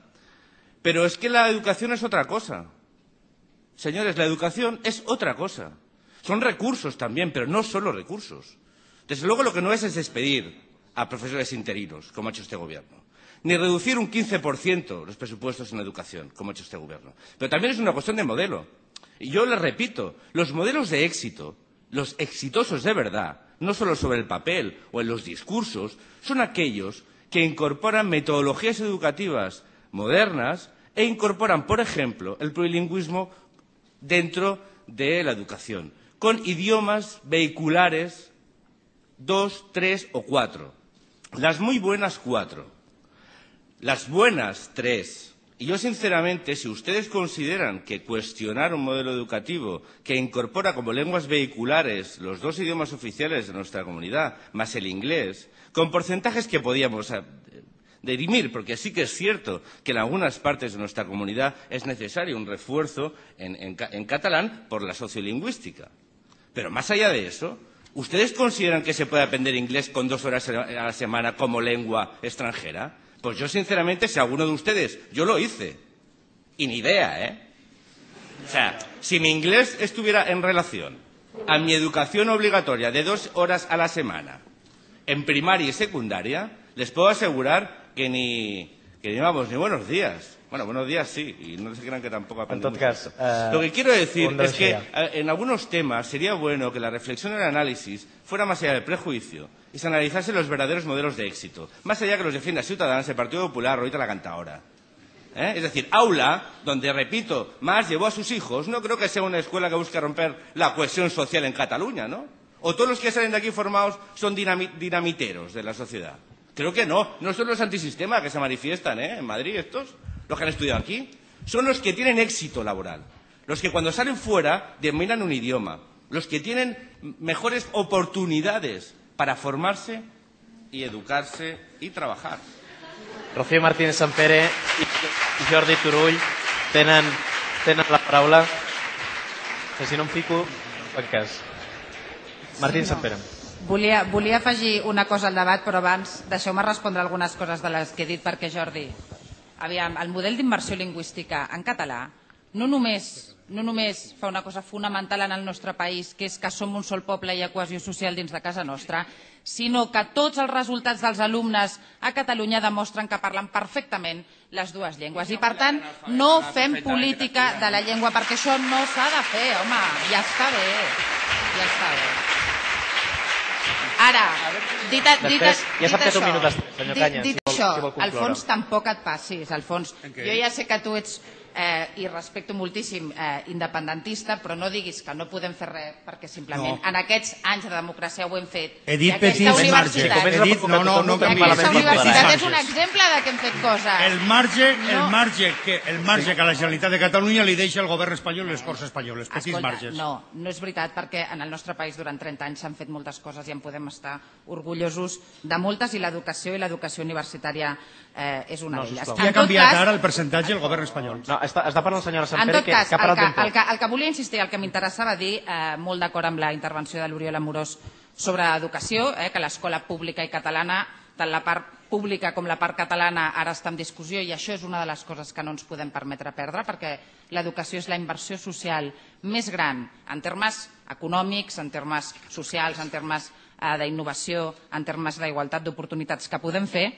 Pero es que la educación es otra cosa. Señores, la educación es otra cosa. Son recursos también, pero no solo recursos. Desde luego lo que no es es despedir a profesores interinos, como ha hecho este gobierno. Ni reducir un quince por ciento los presupuestos en educación, como ha hecho este gobierno. Pero también es una cuestión de modelo. Y yo les repito, los modelos de éxito, los exitosos de verdad, no solo sobre el papel o en los discursos, son aquellos que incorporan metodologías educativas modernas e incorporan, por ejemplo, el plurilingüismo dentro de la educación, con idiomas vehiculares dos, tres o cuatro. Las muy buenas cuatro. Las buenas, tres. Y yo, sinceramente, si ustedes consideran que cuestionar un modelo educativo que incorpora como lenguas vehiculares los dos idiomas oficiales de nuestra comunidad, más el inglés, con porcentajes que podíamos dirimir, porque sí que es cierto que en algunas partes de nuestra comunidad es necesario un refuerzo en, en, en catalán por la sociolingüística. Pero más allá de eso, ¿ustedes consideran que se puede aprender inglés con dos horas a la semana como lengua extranjera? Pues yo, sinceramente, si alguno de ustedes, yo lo hice, y ni idea, ¿eh? O sea, si mi inglés estuviera en relación a mi educación obligatoria de dos horas a la semana, en primaria y secundaria, les puedo asegurar que ni, que ni vamos, ni buenos días. Bueno, buenos días sí, y no se crean que tampoco aprendí mucho esto. Uh, Lo que quiero decir es que en algunos temas sería bueno que la reflexión y el análisis fuera más allá del prejuicio y se analizase los verdaderos modelos de éxito, más allá que los defienda Ciudadanos, el Partido Popular, ahorita la Cantaora. ¿Eh? Es decir, aula, donde, repito, Mas llevó a sus hijos, no creo que sea una escuela que busque romper la cohesión social en Cataluña, ¿no? O todos los que salen de aquí formados son dinami dinamiteros de la sociedad. Creo que no, no son los antisistema que se manifiestan, ¿eh? En Madrid estos, los que han estudiado aquí, son los que tienen éxito laboral, los que cuando salen fuera dominan un idioma, los que tienen mejores oportunidades para formarse y educarse y trabajar. Rocío Martínez Sampere i Jordi Turull tenen, tenen la paraula. Que si no em fico, en cas. Martínez Sampere. Volia, volia afegir una cosa al debat, però abans deixeu-me respondre algunes coses de les que he dit, perquè, Jordi, aviam, el model d'immersió lingüística en català no només, no només fa una cosa fonamental en el nostre país, que és que som un sol poble i hi ha cohesió social dins de casa nostra, sinó que tots els resultats dels alumnes a Catalunya demostren que parlen perfectament les dues llengües. I, per tant, no fem política de la llengua, perquè això no s'ha de fer, home, ja està bé, ja està bé. Ara, dit, dit, Després, ja sap dit que té un això, minut després, senyor Canyes, dit, dit si vol- això, si vol concloure. Alfons, tampoc et passis, Alfons. Jo ja sé que tu ets, eh, i respecto moltíssim, eh, independentista, però no diguis que no podem fer res, perquè simplement No. en aquests anys de democràcia ho hem fet. He dit I aquesta petits universitat, marges. He dit, no, no, no i canviïs. aquesta He dit universitat petits és un marges. exemple de que hem fet coses. El marge, el No. marge que el marge que a la Generalitat de Catalunya li deixa el govern espanyol les Corts Espanyoles, petits Escolta, marges. no, no és veritat, perquè en el nostre país durant trenta anys s'han fet moltes coses i en podem estar orgullosos de moltes, i l'educació i l'educació universitària eh, és una No, d'elles. sisplau. Qui ha canviat ara el percentatge el govern espanyol? No, està, està parlant la senyora En Sampere, tot que, cas, que ha el parlat que, ben poc. el, que, el que volia insistir, el que m'interessava dir, eh, molt d'acord amb la intervenció de l'Oriol Amorós sobre educació, eh, que l'escola pública i catalana, tant la part pública com la part catalana, ara està en discussió, i això és una de les coses que no ens podem permetre perdre, perquè l'educació és la inversió social més gran en termes econòmics, en termes socials, en termes eh, d'innovació, en termes d'igualtat d'oportunitats que podem fer.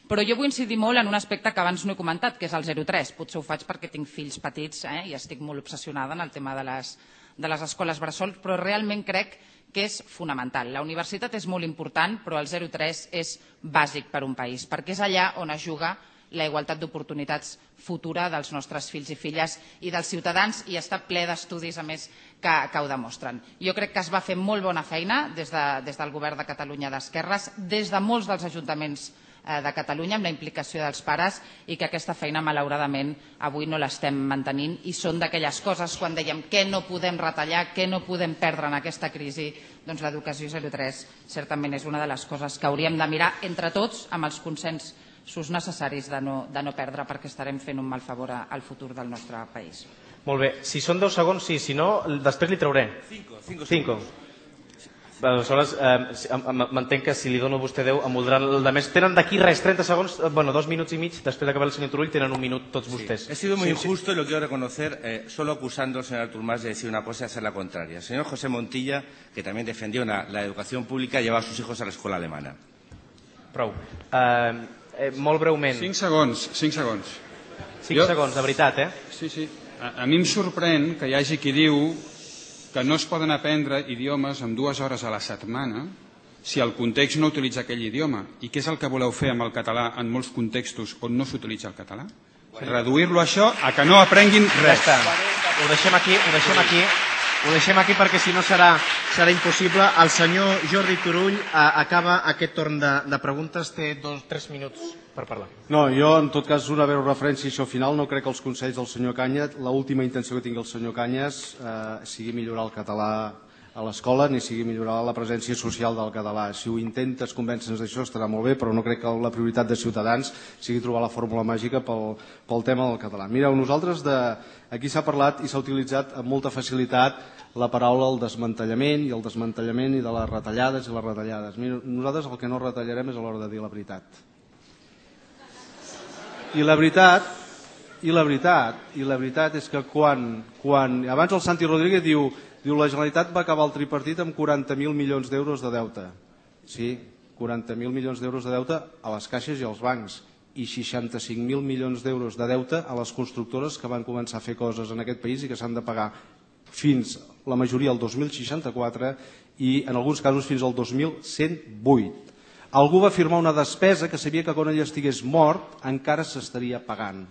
Però jo vull incidir molt en un aspecte que abans no he comentat, que és el zero tres. Potser ho faig perquè tinc fills petits, eh, i estic molt obsessionada en el tema de les, de les escoles bressol, però realment crec que és fonamental. La universitat és molt important, però el zero tres és bàsic per a un país, perquè és allà on es juga la igualtat d'oportunitats futura dels nostres fills i filles i dels ciutadans, i està ple d'estudis, a més, que, que ho demostren. Jo crec que es va fer molt bona feina des, de, des del govern de Catalunya d'Esquerres, des de molts dels ajuntaments de Catalunya, amb la implicació dels pares, i que aquesta feina, malauradament, avui no l'estem mantenint, i són d'aquelles coses, quan dèiem què no podem retallar, què no podem perdre en aquesta crisi, doncs l'educació zero tres certament és una de les coses que hauríem de mirar entre tots amb els consensos necessaris de no, de no perdre, perquè estarem fent un mal favor al futur del nostre país. Molt bé, si són deu segons, sí, si no, després li trauré. Cinco, cinco, Cinco. Aleshores, eh, m'entenc que si li dono a vostè deu, em voldran el de més. Tenen d'aquí res, trenta segons, bueno, dos minuts i mig, després d'acabar el senyor Turull, tenen un minut tots vostès. He sido muy Sí, injusto y lo quiero reconocer, eh, solo acusando al señor Artur Mas de decir una cosa y hacer la contraria. El señor José Montilla, que también defendió una, la educación pública, lleva a sus hijos a la escuela alemana. Prou. Eh, eh, molt breument. Cinc segons, cinc segons. Cinc segons, de veritat, eh? Sí, sí. A, a mi em sorprèn que hi hagi qui diu que no es poden aprendre idiomes en dues hores a la setmana si el context no utilitza aquell idioma. I què és el que voleu fer amb el català en molts contextos on no s'utilitza el català? Reduir-lo a això a que no aprenguin res. Ja està. Ho deixem aquí, ho deixem aquí, ho deixem aquí perquè si no serà serà impossible. El senyor Jordi Turull acaba aquest torn de preguntes. Té dos o tres minuts per parlar. No, jo, en tot cas, una breu referència a això final. No crec que els consells del senyor Cañas, l'última intenció que tingui el senyor Cañas sigui millorar el català a l'escola ni sigui millorar la presència social del català. Si ho intentes convèncer-nos d'això estarà molt bé, però no crec que la prioritat de Ciutadans sigui trobar la fórmula màgica pel tema del català. Mireu, nosaltres aquí s'ha parlat i s'ha utilitzat amb molta facilitat la paraula el desmantellament i el desmantellament i de les retallades i les retallades. Nosaltres el que no retallarem és a l'hora de dir la veritat. I la veritat, i la veritat, i la veritat és que quan, quan abans el Santi Rodríguez diu Diu, la Generalitat va acabar el tripartit amb quaranta mil milions d'euros de deute. Sí, quaranta mil milions d'euros de deute a les caixes i als bancs i seixanta-cinc mil milions d'euros de deute a les constructores que van començar a fer coses en aquest país i que s'han de pagar fins, la majoria, el dos mil seixanta-quatre i en alguns casos fins al dos mil cent vuit. Algú va firmar una despesa que sabia que quan ell estigués mort encara s'estaria pagant.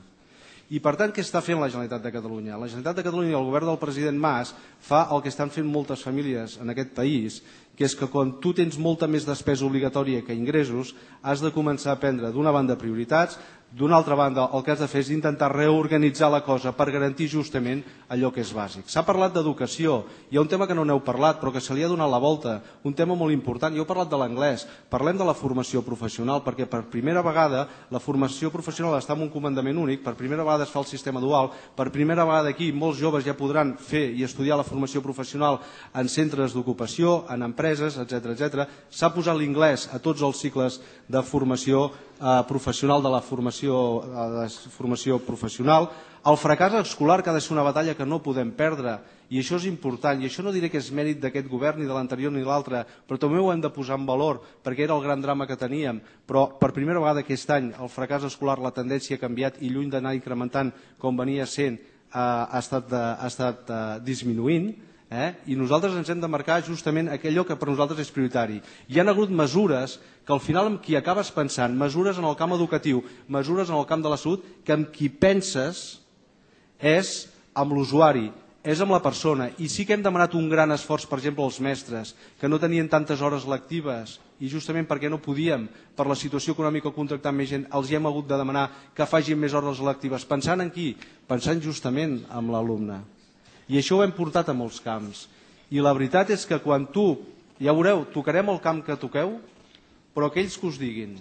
I per tant, què està fent la Generalitat de Catalunya? La Generalitat de Catalunya i el govern del president Mas fa el que estan fent moltes famílies en aquest país, que és que quan tu tens molta més despesa obligatòria que ingressos, has de començar a prendre d'una banda prioritats, d'una altra banda el que has de fer és intentar reorganitzar la cosa per garantir justament allò que és bàsic. S'ha parlat d'educació, hi ha un tema que no n'heu parlat però que se li ha donat la volta, un tema molt important, jo he parlat de l'anglès, parlem de la formació professional perquè per primera vegada la formació professional està en un comandament únic, per primera vegada es fa el sistema dual, per primera vegada aquí molts joves ja podran fer i estudiar la formació professional en centres d'ocupació, en empreses, etcètera, etcètera. S'ha posat l'inglès a tots els cicles de formació professional de la formació, de formació professional. El fracàs escolar que ha de ser una batalla que no podem perdre i això és important i això no diré que és mèrit d'aquest govern ni de l'anterior ni de l'altre, però també ho hem de posar en valor perquè era el gran drama que teníem, però per primera vegada aquest any el fracàs escolar, la tendència ha canviat i lluny d'anar incrementant com venia sent ha estat, ha estat disminuint. Eh? I nosaltres ens hem de marcar justament allò que per nosaltres és prioritari. Hi ha hagut mesures que al final amb qui acabes pensant, mesures en el camp educatiu, mesures en el camp de la salut, que amb qui penses és amb l'usuari, és amb la persona. I sí que hem demanat un gran esforç, per exemple, als mestres, que no tenien tantes hores lectives i justament perquè no podíem, per la situació econòmica contractar més gent, els hi hem hagut de demanar que facin més hores lectives. Pensant en qui? Pensant justament en l'alumne. I això ho hem portat a molts camps. I la veritat és que quan tu, ja veureu, tocarem el camp que toqueu, però aquells que us diguin,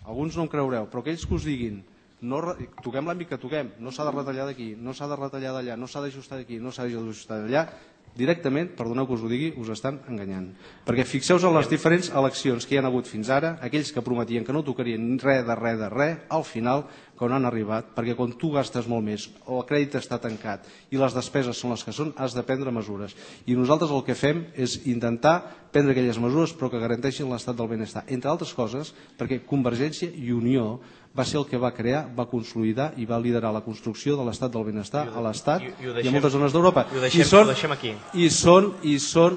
alguns no em creureu, però aquells que us diguin, no, toquem l'àmbit que toquem, no s'ha de retallar d'aquí, no s'ha de retallar d'allà, no s'ha d'ajustar d'aquí, no s'ha d'ajustar d'allà, directament, perdoneu que us ho digui, us estan enganyant. Perquè fixeu-vos en les diferents eleccions que hi ha hagut fins ara, aquells que prometien que no tocarien res de res de res, al final, quan han arribat, perquè quan tu gastes molt més, el crèdit està tancat i les despeses són les que són, has de prendre mesures. I nosaltres el que fem és intentar prendre aquelles mesures però que garanteixin l'estat del benestar. Entre altres coses, perquè Convergència i Unió va ser el que va crear, va consolidar i va liderar la construcció de l'estat del benestar a l'Estat i a moltes zones d'Europa. I ho deixem aquí. I són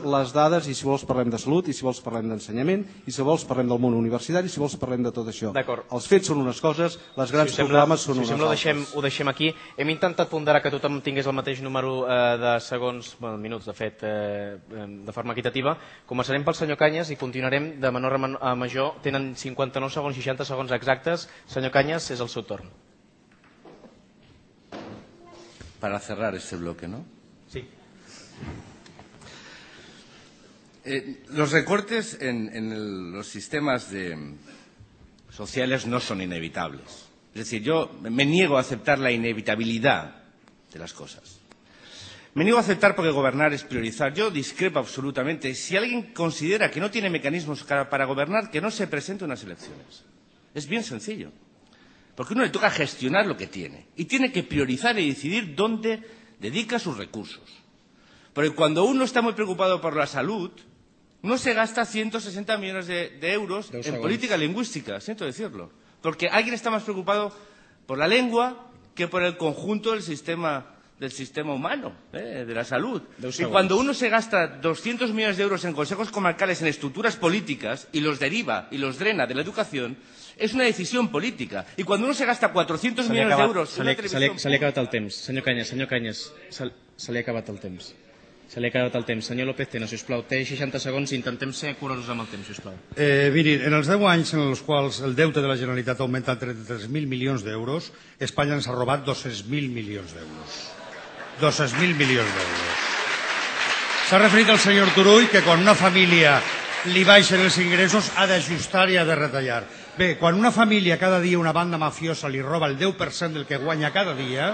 les dades, i si vols parlem de salut, i si vols parlem d'ensenyament, i si vols parlem del món universitari, i si vols parlem de tot això. Els fets són unes coses, les grans programes són unes altres. Ho deixem aquí. Hem intentat ponderar que tothom tingués el mateix número de segons, minuts, de fet, de forma equitativa. Començarem pel senyor Cañas i continuarem de menor a major. Tenen cinquanta-nou segons, seixanta segons exactes. Senyor Cañas, es el seu torn. Para cerrar este bloque, ¿no? Sí. Eh, los recortes en, en el, los sistemas de, sociales no son inevitables. Es decir, yo me niego a aceptar la inevitabilidad de las cosas. Me niego a aceptar porque gobernar es priorizar. Yo discrepo absolutamente. Si alguien considera que no tiene mecanismos para gobernar, que no se presente a unas elecciones. Es bien sencillo. Porque uno le toca gestionar lo que tiene y tiene que priorizar y decidir dónde dedica sus recursos. Porque cuando uno está muy preocupado por la salud, uno se gasta ciento sesenta millones de, de euros Dos en segundos. política lingüística, siento decirlo. Porque alguien está más preocupado por la lengua que por el conjunto del sistema, del sistema humano, eh, de la salud. Dos y segundos. Cuando uno se gasta doscientos millones de euros en consejos comarcales, en estructuras políticas, y los deriva y los drena de la educación, es una decisión política. Y cuando uno se gasta cuatrocientos millones de euros en la televisión... Se li ha acabat el temps. Senyor Cañas, senyor Cañas, se, se li ha acabat el temps. Se li ha acabat el temps. Senyor López Tena, sisplau, té seixanta segons i intentem ser curosos amb el temps, sisplau. Eh, mirin, en els deu anys en els quals el deute de la Generalitat augmenta a trenta-tres mil milions d'euros, Espanya ens ha robat dos-cents mil milions d'euros. dos-cents mil milions d'euros. S'ha referit al senyor Turull que quan una família li baixen els ingressos ha d'ajustar i ha de retallar. Bé, quan una família cada dia una banda mafiosa li roba el deu per cent del que guanya cada dia,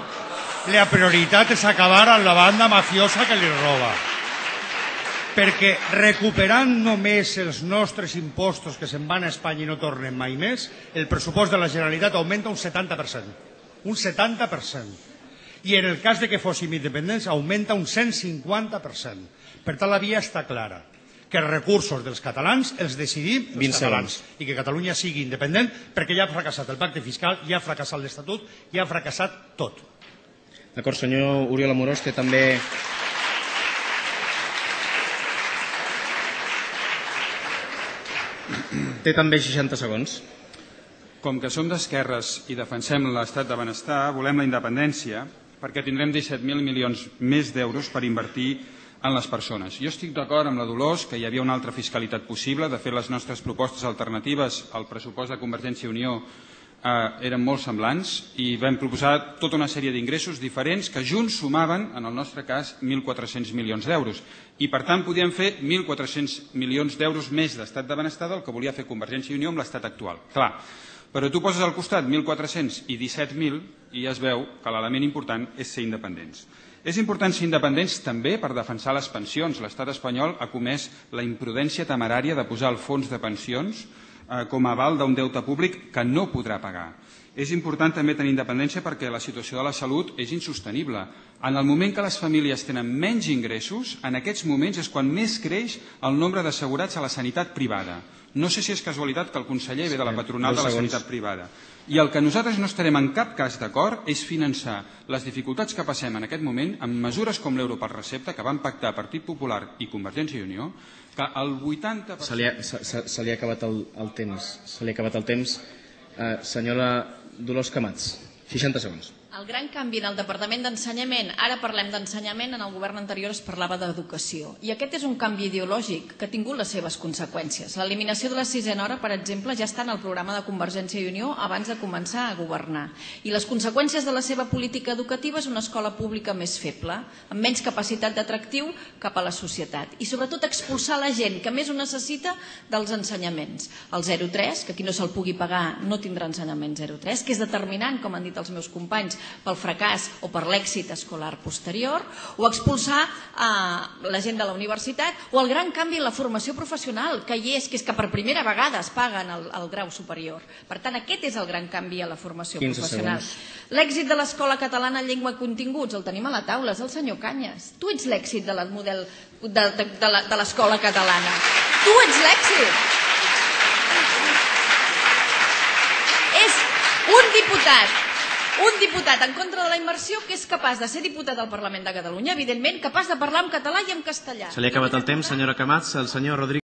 la prioritat és acabar amb la banda mafiosa que li roba. Perquè recuperant només els nostres impostos que se'n van a Espanya i no tornen mai més, el pressupost de la Generalitat augmenta un setanta per cent. Un setanta per cent. I en el cas de que fóssim independents augmenta un cent cinquanta per cent. Per tant, la via està clara. Que els recursos dels catalans els decidim els catalans i que Catalunya sigui independent perquè ja ha fracassat el pacte fiscal, ja ha fracassat l'Estatut, ja ha fracassat tot. D'acord, senyor Oriol Amorós, té també... Té també seixanta segons. Com que som d'esquerres i defensem l'estat de benestar, volem la independència perquè tindrem disset mil milions més d'euros per invertir en les persones. Jo estic d'acord amb la Dolors que hi havia una altra fiscalitat possible. De fet, les nostres propostes alternatives al pressupost de Convergència i Unió eh, eren molt semblants i vam proposar tota una sèrie d'ingressos diferents que junts sumaven, en el nostre cas, mil quatre-cents milions d'euros. I, per tant, podíem fer mil quatre-cents milions d'euros més d'estat de benestar del que volia fer Convergència i Unió amb l'estat actual. Clar, però tu poses al costat mil quatre-cents i disset mil i ja es veu que l'element important és ser independents. És important ser independents també per defensar les pensions. L'estat espanyol ha comès la imprudència temerària de posar el fons de pensions eh, com a aval d'un deute públic que no podrà pagar. És important també tenir independència perquè la situació de la salut és insostenible. En el moment que les famílies tenen menys ingressos, en aquests moments és quan més creix el nombre d'assegurats a la sanitat privada. No sé si és casualitat que el conseller ve de la patronal de la sanitat privada. I el que nosaltres no estarem en cap cas d'acord és finançar les dificultats que passem en aquest moment amb mesures com l'euro per recepta que van pactar Partit Popular i Convergència i Unió, que el vuitanta per cent... Se li ha, se, se, se li ha acabat el, el temps. Se li ha acabat el temps. Eh, senyora Dolors Camats, seixanta segons. El gran canvi en el Departament d'Ensenyament, ara parlem d'ensenyament, en el govern anterior es parlava d'educació. I aquest és un canvi ideològic que ha tingut les seves conseqüències. L'eliminació de la sisena hora, per exemple, ja està en el programa de Convergència i Unió abans de començar a governar. I les conseqüències de la seva política educativa és una escola pública més feble, amb menys capacitat d'atractiu cap a la societat. I sobretot expulsar la gent que més ho necessita dels ensenyaments. El zero tres, que qui no se'l pugui pagar no tindrà ensenyament zero tres, que és determinant, com han dit els meus companys, pel fracàs o per l'èxit escolar posterior, o expulsar eh, la gent de la universitat, o el gran canvi en la formació professional, que hi és, que és que per primera vegada es paguen el, el grau superior. Per tant, aquest és el gran canvi a la formació professional. L'èxit de l'escola catalana en llengua i continguts, el tenim a la taula, és el senyor Cañas. Tu ets l'èxit del model de, de, de l'escola catalana. Tu ets l'èxit. És un diputat Un diputat en contra de la immersió que és capaç de ser diputat al Parlament de Catalunya, evidentment, capaç de parlar en català i en castellà. Se li ha acabat el temps, senyora Camats. El senyor Rodríguez.